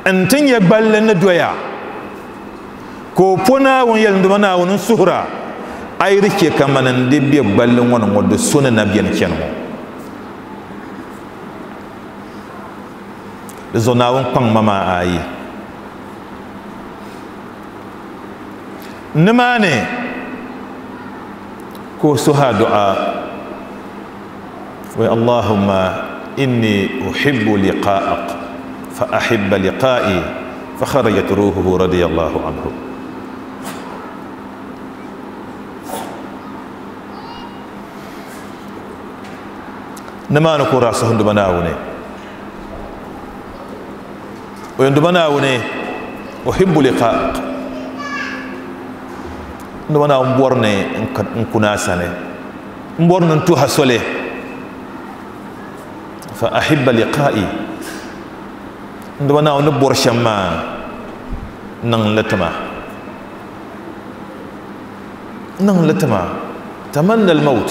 n ti nyɛ gballi ni doya, ka o po Naawuni yɛli, n Duuma Naawuni, n suhura a yi di chɛ ka mani n di be gballi ŋɔ ni ŋɔ di so ni na beni chani ŋɔ. Di zuɣu Naawuni kpaŋ ma maa ayi. Nimaani ka o suhi adu'a, wa Allahumma inni uhibbu liqa'ak fa ahibba liqa'i fa kharajat ruhuhu radiyallahu anhu. Nimaani ka o daa suhi n Duuma Naawuni, o yɛn Duuma Naawuni uhibbu liqa'ak, n Duuma Naawuni bɔri ni n kuna a sani, n bɔri ni n tuha soli, fa ahibba liqa'i, n Duuma Naawuni ni bɔri shɛm maa niŋ li tima, niŋ li tima. Tamanna al-maut,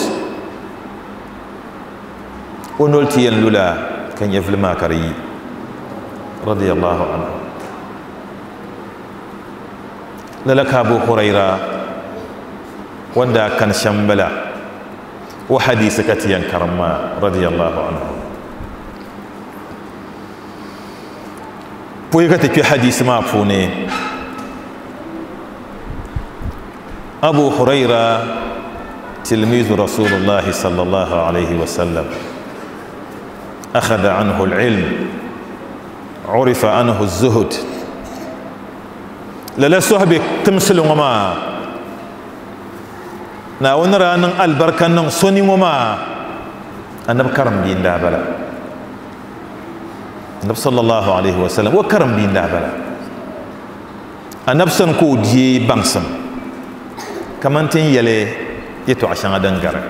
o noli ti yɛn lula ka nyɛvili maa ka di yi, radiyallahu anhu. Lala ka Abu Huraira wanda kan shɛm bala o hadisi ka ti yɛn karim maa, radiyallahu anhu. Pɔi ka ti kpe hadisi maa puuni, Abu Huraira tilmizu Rasulullahi sallallahu alayhi wa sallam, akhadha anhu al-ilm, urifa anhu az-zuhd. Lala sohbi timsili ŋɔ maa, Naawuni daa niŋ alibarika niŋ soni ŋɔ maa, Annabi karim bia n-daa bala. Annabi sallallahu alayhi wa sallam o karim bia n-daa bala. Annabi sani ka o deei baŋsim kaman ti ni yɛli yɛtɔɣa shɛŋa din gari.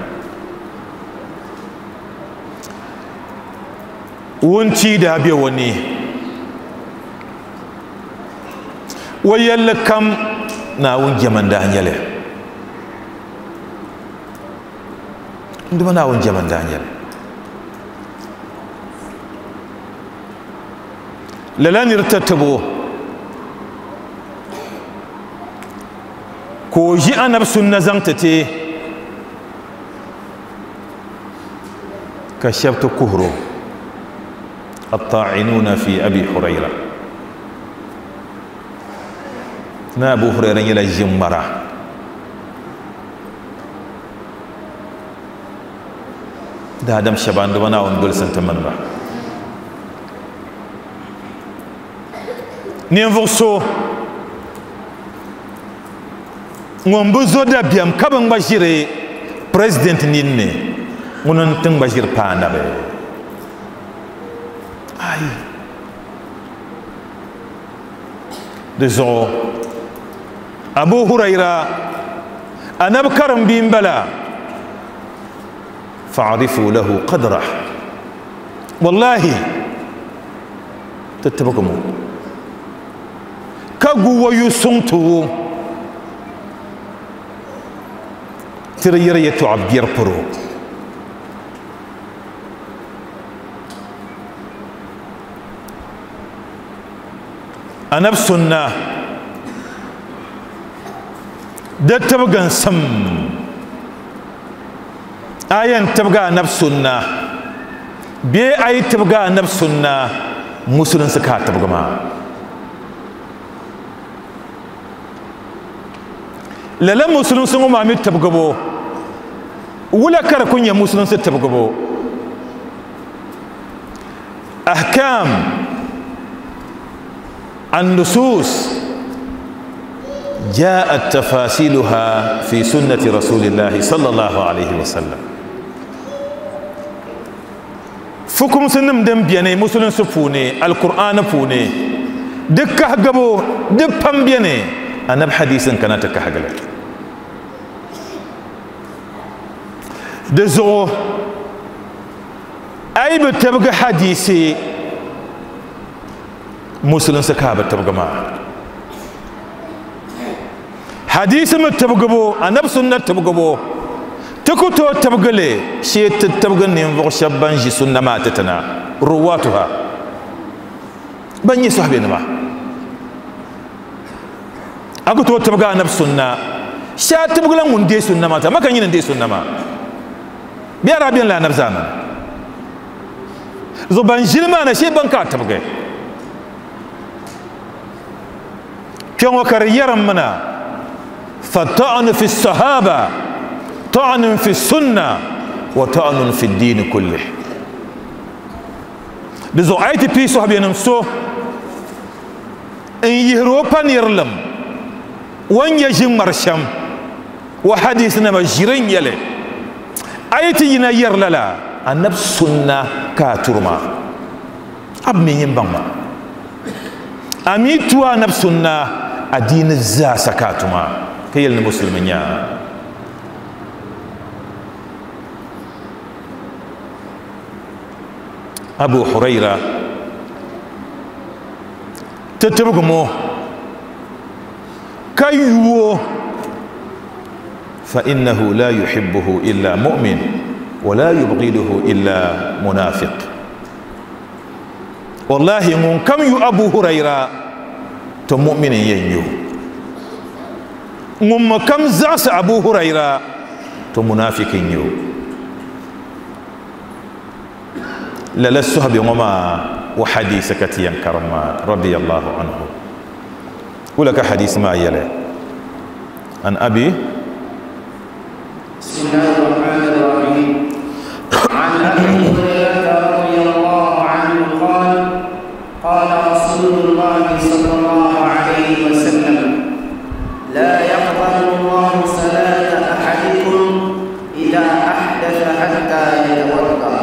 Wuntia daa be o ni, o yɛlli kam Naawuni jɛma n-daa nyɛ li. N Duuma Naawuni jɛma n-daa nyɛ li. Lala nir tatibo ka o ʒi Annabi sunna zaŋ ti ti, ka shɛba ti kuhiro, at-ta'inuna fi Abi Huraira. Na Abu Huraira nyɛla ʒiŋmara. Daadam shɛba n Duuma Naawuni dolisi n-ti mini ba. Ninvuɣ so ŋun bi zo dabiɛm ka bi ŋma ʒiri president ninni, ŋuni n-ti ŋma ʒiri paai anabi. Ayi. Di zuɣu Abu Huraira anabi karim bia m-bala, fa'arifu lahu qadrah, wallahi ti tibigi mo ka gu wayu suŋ ti o ti di yɛri yɛtɔɣa biɛri poro. Anabi sunna di tibiginsim, a yɛn tibigi anabi sunna bee a yi tibigi anabi sunna musulinsi ka a tibigi maa. Lala musulinsi ŋɔ maa mi tibgibu wula ka di ku nyɛ musulinsi tibgibu ahkam النصوص جاءت تفاصيلها في سنة رسول الله صلى الله عليه وسلم. فكم سنم دم بياني مسلم سفوني القرآن فوني دكه قبو دبهم بياني أنا بحديث كانت كهجلة دزو أي بتبقى حديثي مسلم سكابة تبقى ما حديث ما تبقى بو أنا بسنة تبقى بو تكتو تبقى لي شيء تبقى نينفق شبان جي سنة ما تتنا رواتها بني صحبين ما أكتو تبقى أنا بسنة شيء تبقى لهم دي سنة ما ما كان يندي سنة ما بيعربين لا نبزانا زبان جلما شيء بنكات تبقى كم كريرا منا فطعن في الصحابة طعن في السنة وطعن في الدين كله. بزو اي بي صحابي نمسو ان يهروبا نيرلم وان يجي مرشم وحديثنا مجرين يلي اي تي ينير لا النب سنة كاترما اب مين ينبما امي توا نب سنة الدين الزاسة كاتما كي المسلمين يا أبو هريرة تتبقمو كيو فإنه لا يحبه إلا مؤمن ولا يبغضه إلا منافق. والله من كم يو أبو هريرة تمؤمن ينيو من كم زعس أبو هريرة تمنافق ينيو لا الصحابي وما وحديث كتيا كرما رضي الله عنه. ولك حديث ما يلي عن أبي. بسم الله الرحمن الرحيم. عن أبي هريرة رضي الله عنه قال قال رسول الله صلى الله عليه وسلم لا يقبل الله صلاة أحدكم إذا أحدث حتى يتوضأ.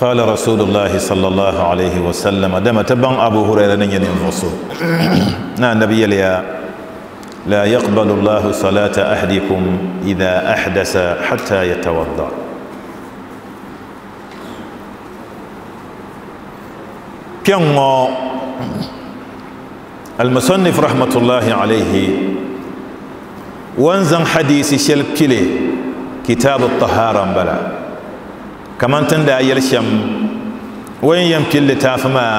قال رسول الله صلى الله عليه وسلم دم تبن أبو هريرة ينفسه نا النبي ليا لا يقبل الله صلاة أحدكم إذا أحدث حتى يتوضأ. كم المصنف رحمة الله عليه وانزن حديث شلبكلي كتاب الطهارة بلا كمان تندى يلشم وين يمكن تافما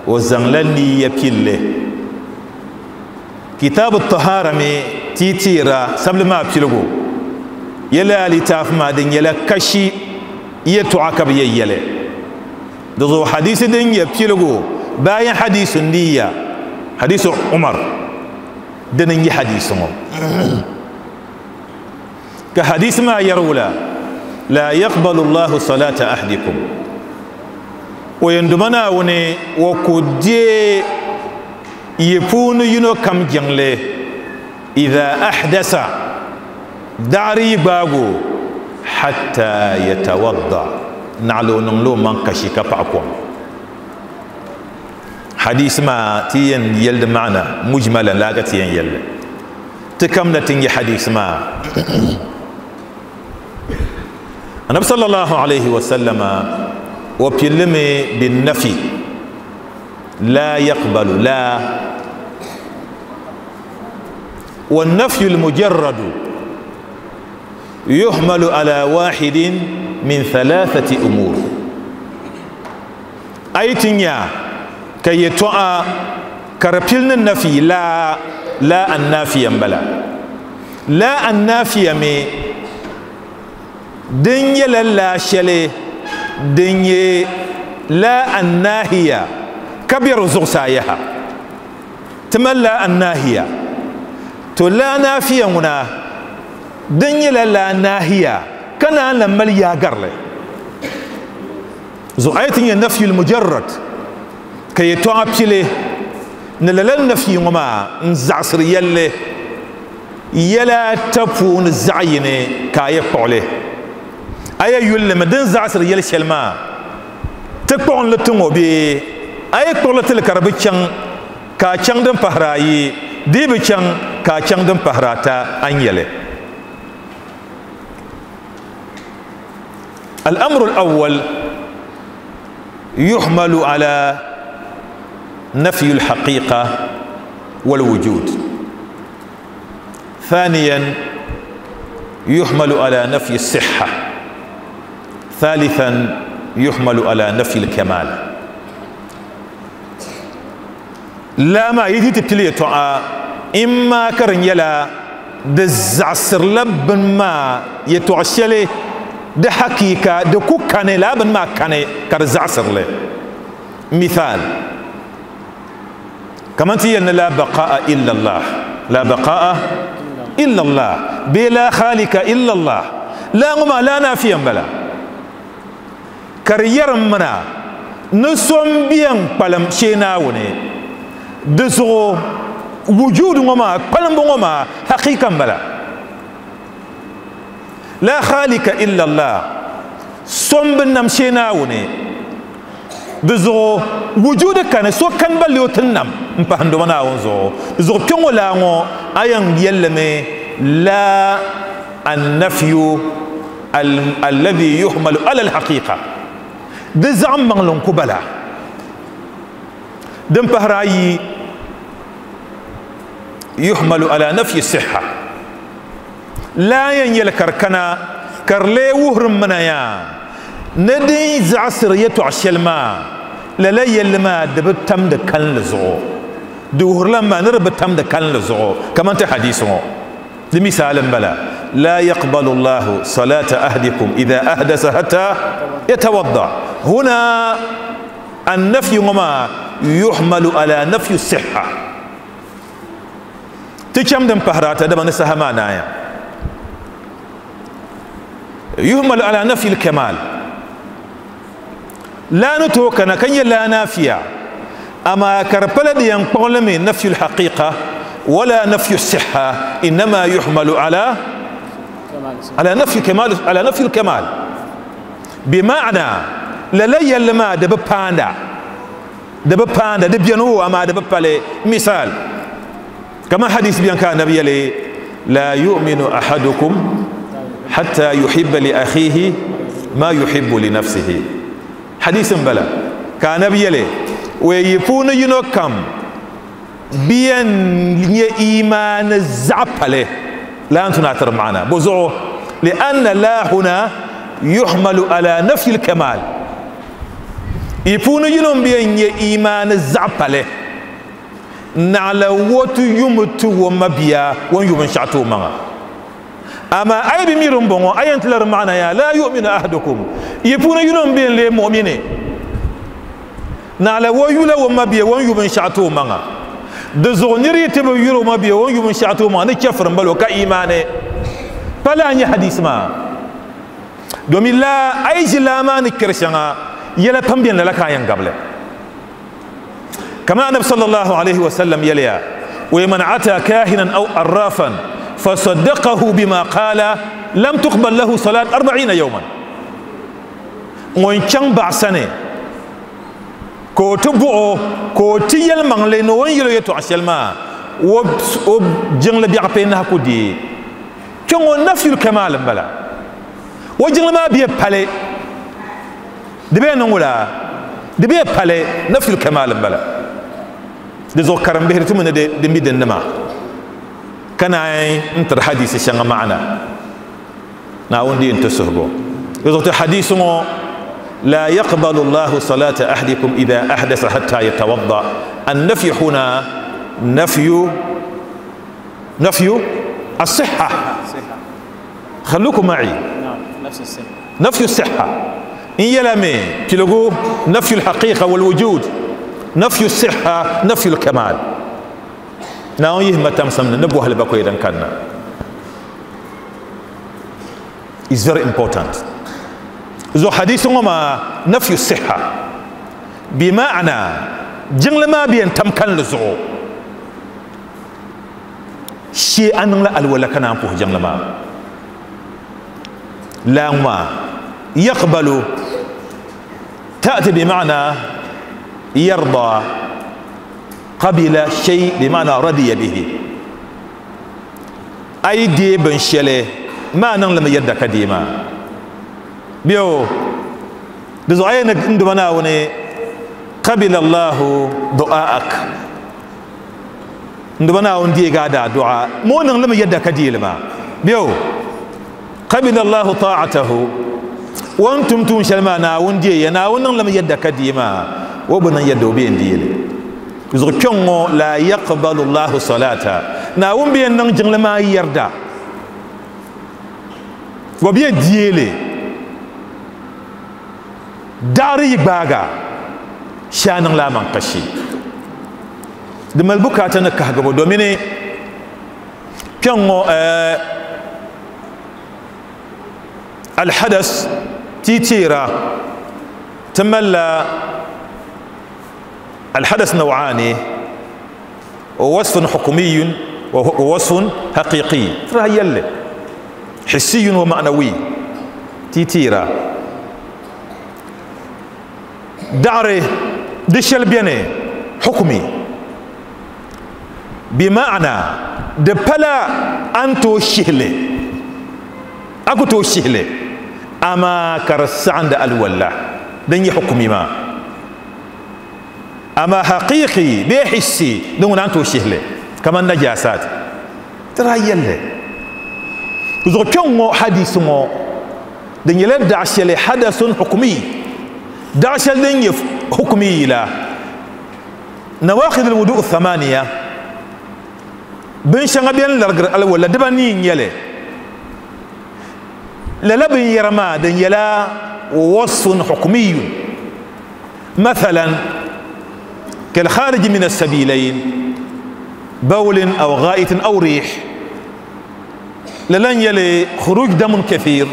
وزن لني يبكل كتاب الطهارة مي تيتيرا سبل ما بيلغو يلا لتافما دين يلا كشي يتعاقب يلا دزو حديث دين يبيلغو باين حديث النية حديث عمر دين حديث كحديث ما يرولا لا يقبل الله صلاة أحدكم ويندمنا وني وكودي يفون ينو كم جنلي إذا أحدث داري باغو حتى يتوضأ نعلو نملو من كشي كفعكم. حديث ما تين يلد معنا مجملا لا تين يلد تكملة تنجي حديث ما النبي صلى الله عليه وسلم وبيلمي بالنفي لا يقبل لا والنفي المجرد يحمل على واحد من ثلاثة أمور. أي تنيا كي يتوأ كربيلن النفي لا لا النافي بلا لا النافي مي دنيا لا شلي دنيا لا الناهية كبير زغسايها. تملا الناهية تو لا نافية هنا دنيا لا ناهية كان لما يا قرلي زعيتني النفي المجرد كي تعبتلي نللا النفي وما نزعصر يلي يلا تفون الزعيني كاي قوله اي يل مدن زعصر يل شلما تقون لتنو بي اي قولت الكرب تشان كا تشان دم فهراي دي بتشان كا تشان دم فهراتا ان يلي. الأمر الأول يحمل على نفي الحقيقة والوجود. ثانيا يحمل على نفي الصحة. ثالثا يحمل على نفي الكمال. لا ما يجي تبتلي إما كرن يلا دزعسر لبن ما يتعشلي ده حقيقة ده كوكاني لابن ما كاني كرزعسر له. مثال كمان تيجي لا بقاء إلا الله، لا بقاء إلا الله، بلا خالق إلا الله، لا ما لا نافيا بلا كرير منا نسوم بيان بالم شيناوني دسو وجود وما بالم وما حقيقة بلا لا خالق إلا الله سوم بنم شيناوني دزو وجود كان سو كان بليو تنم مباندو منا ونزو دزو كيون لا مو ايان يلمي لا النفي الذي يحمل على الحقيقة دزعم مغلون كبلا دم بهراي يحمل على نفي الصحة لا ينيل كركنا كرلي وهرم منايا ندي زعسر يتو ما لا لا يلما دب تم دكان لزو دوهر لما نرب تم دكان لزو كما انت حديثه لمثال بلا لا يقبل الله صلاة أحدكم إذا أحدث حتى يتوضأ. هنا النفي وما يحمل على نفي الصحة تكم دم بهراتا دم نسها معنايا يحمل على نفي الكمال لا نتوكنا كن لا نافية أما كربلد ينقل من نفي الحقيقة ولا نفي الصحة إنما يحمل على نفي كمال على نفي الكمال بمعنى لا يلما دب باندا دب باندا دب ينو أما دب بالي. مثال كما حديث بيان كان النبي لي لا يؤمن أحدكم حتى يحب لأخيه ما يحب لنفسه. حديث بلا كان نبي لي ويفون ينوكم بين إيمان الزعبله لا أنتم نعترف معنا بزعه لأن لا هنا يحمل على نفي الكمال يفون ينوم بين إيمان الزعبله نعلى وتو يمتو ومبيا ويوم شعتو معا أما أي بميرم بونو أي أنت معنا يا لا يؤمن أحدكم يفون ينوم بين لي مؤمنين نعلى ويولا ومبيا ويوم شعتو معا دزغنيري تبو يرو ما بيا ويوم شعتو معا نكفر بلو كإيمانه فلا أني حديث ما دومي لا أي جلا ما نكرشنا يلا تنبين لك عين قبله كما النبي صلى الله عليه وسلم يليا ومن عتى كاهنا أو عرافا فصدقه بما قال لم تقبل له صلاة 40 يوما وإن كان بعسنة كوتبو كوتيل من لين وين يلو يتو عشل ما وجنل بيعبينها كودي كون نفي الكمال بلا وجنل ما بيبالي دبي نقولا دبي بالي نفي الكمال بلا دزو كرم بهرتو من دمي دنما كان انت الحديث شنو معنا ناوندي انت سهبو يزو حديث لا يقبل الله صلاة أحدكم إذا أحدث حتى يتوضأ. النفي هنا نفي الصحة. خلوكم معي نفي الصحة إن يلمي تلقوا نفي الحقيقة والوجود نفي الصحة نفي الكمال. Naawuni yihima tamsim ni ni bɔhili bakɔi din kanna. Is very important. Zuɣu hadisi ŋɔ maa nafyu siha bi ma'ana jiŋli maa bi yɛn tam kalinli zuɣu shee a niŋla alwala ka naan puhi jiŋli maa. Laa ŋɔ maa yaqbalu ta'ti bi ma'ana yarda qabila shay bi ma'ana radiya bihi. A yi deei binshɛli maa niŋlimi yadda ka deei maa bɛ di zuɣu a yɛn ni n duma Naawuni qabila Allahu du'aak n duma Naawuni deegi a daa du'a moo niŋlimi yadda ka deeli maa bɛ qabila Allahu ta'atahu wan tum tuun shɛli maa Naawuni deeya Naawuni niŋlimi yadda ka deei maa o bi niŋ yadda o bɛ yɛn deeli zuɣu kpɛŋ ŋɔ la yaqbalu Allahu salata Naawuni bɛ yɛn niŋ jiŋli maa yarda wa bɛ deeli daɣari yi gbaaga shee niŋ la man kashi di mali bukaata ni kahigibu domini kpɛŋ ŋɔ alhadas titeera ti malila الحدث نوعان ووصف حكمي ووصف حقيقي ترى يلي حسي ومعنوي تيتيرا دعري دشل بيني حكمي بمعنى دبلا أنتو شهلي أكو تو شهلي أما كرس عند الولا دني حكمي ما أما حقيقي بحسي دون أنتو شهلي كمان نجاسات ترى يلي زو كون حديث مو دني لا دعشل حدث حكمي دعشل دني حكمي لا نواقض الوضوء الثمانية بن شنغ بين لرغر ولا دبني يلي لا لا بن يرما دني لا وصف حكمي مثلا كالخارج من السبيلين بول أو غائط أو ريح للن يلي خروج دم كثير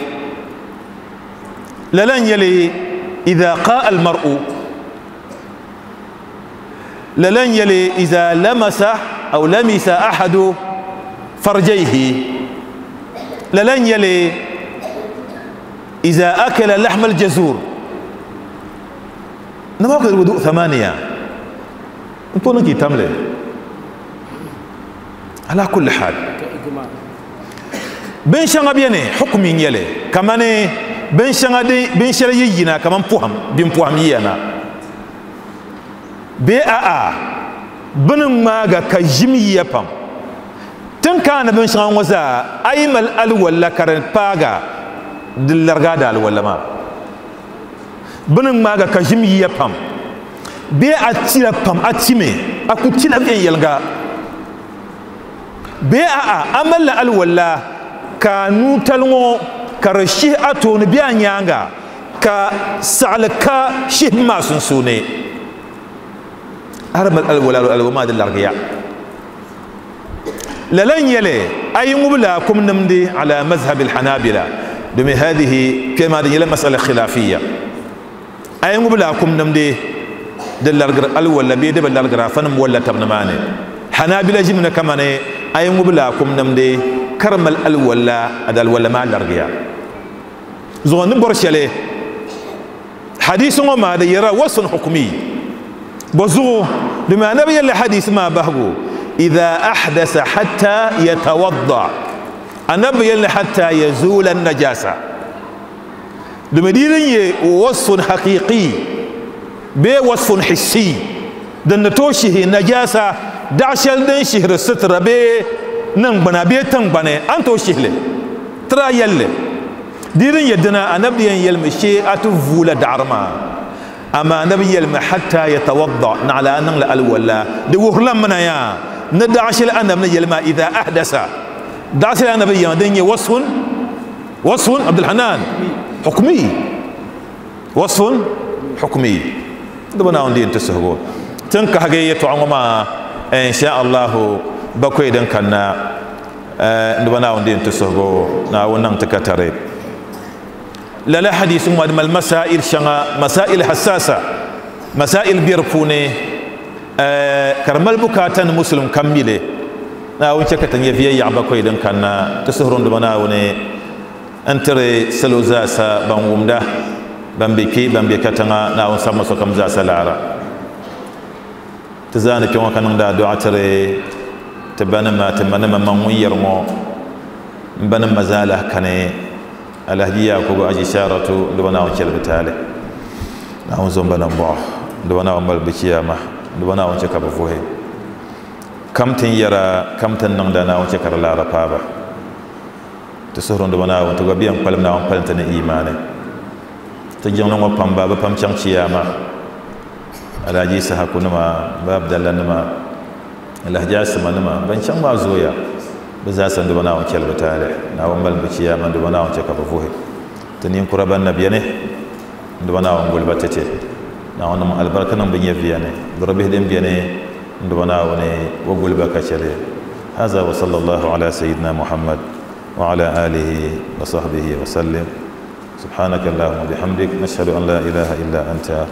للن يلي إذا قاء المرء للن يلي إذا لمس أو لمس أحد فرجيه للن يلي إذا أكل لحم الجزور. نواقض الوضوء 8 انتو نجي تملي على كل حال بين شنغ بيني حكمي يلي كمان بين شنغ دي بين شنغ يجينا كمان بوهم بين بوهم ينا بي ا بن ماغا كجيمي يبام تن كان بين شنغ وزا ايمل ال ولا كارن باغا دلرغا دال ولا ما بن ماغا كجيمي يبام bee a tila pam a time a ku tila viɛnyɛliŋga bee a a malila alwala ka nuutali ŋɔ ka di shihi a tooni bee a nyaanga ka saɣali ka shihi maa sunsuuni a di mali alwala alwala maa di larigiya lala n nyɛli a yi ŋubi laakum nimdi ala mazhabi alhanabila domin hadihi kpɛ maa di nyɛla masala khilafiya a yi ŋubi laakum nimdi di larigiri alwala bee di bi larigira fanim walla tab ni maani hanabila ʒimina kamani a yi ŋubi laakum nimdi ka di mali alwala a di alwala maa larigiya zuɣu ni bɔri shɛli hadisi ŋɔ maa di yɛra wasfun hukmi bɔ zuɣu domin anabi yɛlli hadisi maa bahigu idha ahdasa hatta yatawadda anabi yɛlli hatta yazula najasa domin di din nyɛ wasfun haqiqi bee wasfun hissi din ni tooi shihi najasa daɣa shɛli din shihiri sitira bee niŋgbuna bee tiŋgbani a ni tooi shihili tira yɛlli di din yɛ dina anabi yɛn yɛlimi shee a ti vuula daɣari maa ama anabi yɛlimi hatta yatawadda naɣala a niŋla alwala di wuhurila mina yaa ni daɣa shɛli anabi ni yɛli maa idha ahdasa daɣa shɛli anabi yɛma din nyɛ wasfun wasfun abdulhanan hukmi wasfun hukmi دبنا عندي انت سهو تنكحجي يتوعم ما إن شاء الله Bakwai din kanna n diba Naawuni din ti suhigu Naawuni niŋ ti ka tari. Lala hadisi ŋɔ di mali masail shɛŋa, masail hassasa, masail biɛri puuni, ka di mali bukaata ni musulim kam mi li. Naawuni chɛ ka ti nyɛ viɛnyɛɣu bakwai din kanna. Ti suhuri n diba Naawuni n tiri salo zaasa ban wumda, ban be kpe, ban be katiŋa. Naawuni sabimi sokam zaasa laara. Ti zaani kpe ŋɔ ka niŋdi adua tiri ti banima, ti manima, man ŋun yɛri ŋɔ n banima zaa lahi kani. Alhaji Yakubu Aji Sharatu, n diba Naawuni chɛli bi taali. Naawuni zo n ba nambɔɣu, n diba Naawuni mali bi chiyaama, n diba Naawuni chɛ ka bi vuhi. Kam tin yɛra, kam tin niŋda, Naawuni chɛ ka di laara paaba. Ti suhuri n diba Naawuni, ti gba bɛn kpalim Naawuni kpalim ti ni imaani. Ti jiŋli ŋɔ pam ba bi pam chaŋ chiyaama. Alhaji Isahaku nima, ba Abdalla nima, Alhaji Asima nima, ban chaŋ maa zooya. Bi zaasa n diba Naawuni chɛli bi taali. Naawuni mali bi chiyaama, n diba Naawuni chɛ ka bi vuhi. Ti ninkura ban na beni, n diba Naawuni guli ba tɛtɛ. Naawuni niŋ alibarika niŋ bi nyɛviya ni. Dɔro bihi din beni, n diba Naawuni o guli ba ka chɛli. Haza wa sallallahu ala sayyidina Muhammad wa ala alihi wa sahbihi wa sallim. Subhanaka Allahumma bihamdik, nashhadu an la ilaha illa anta,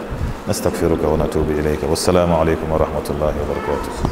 nastaghfiruka wa natubu ilayka. Wassalamu alaykum wa rahmatullahi wa barakatuh.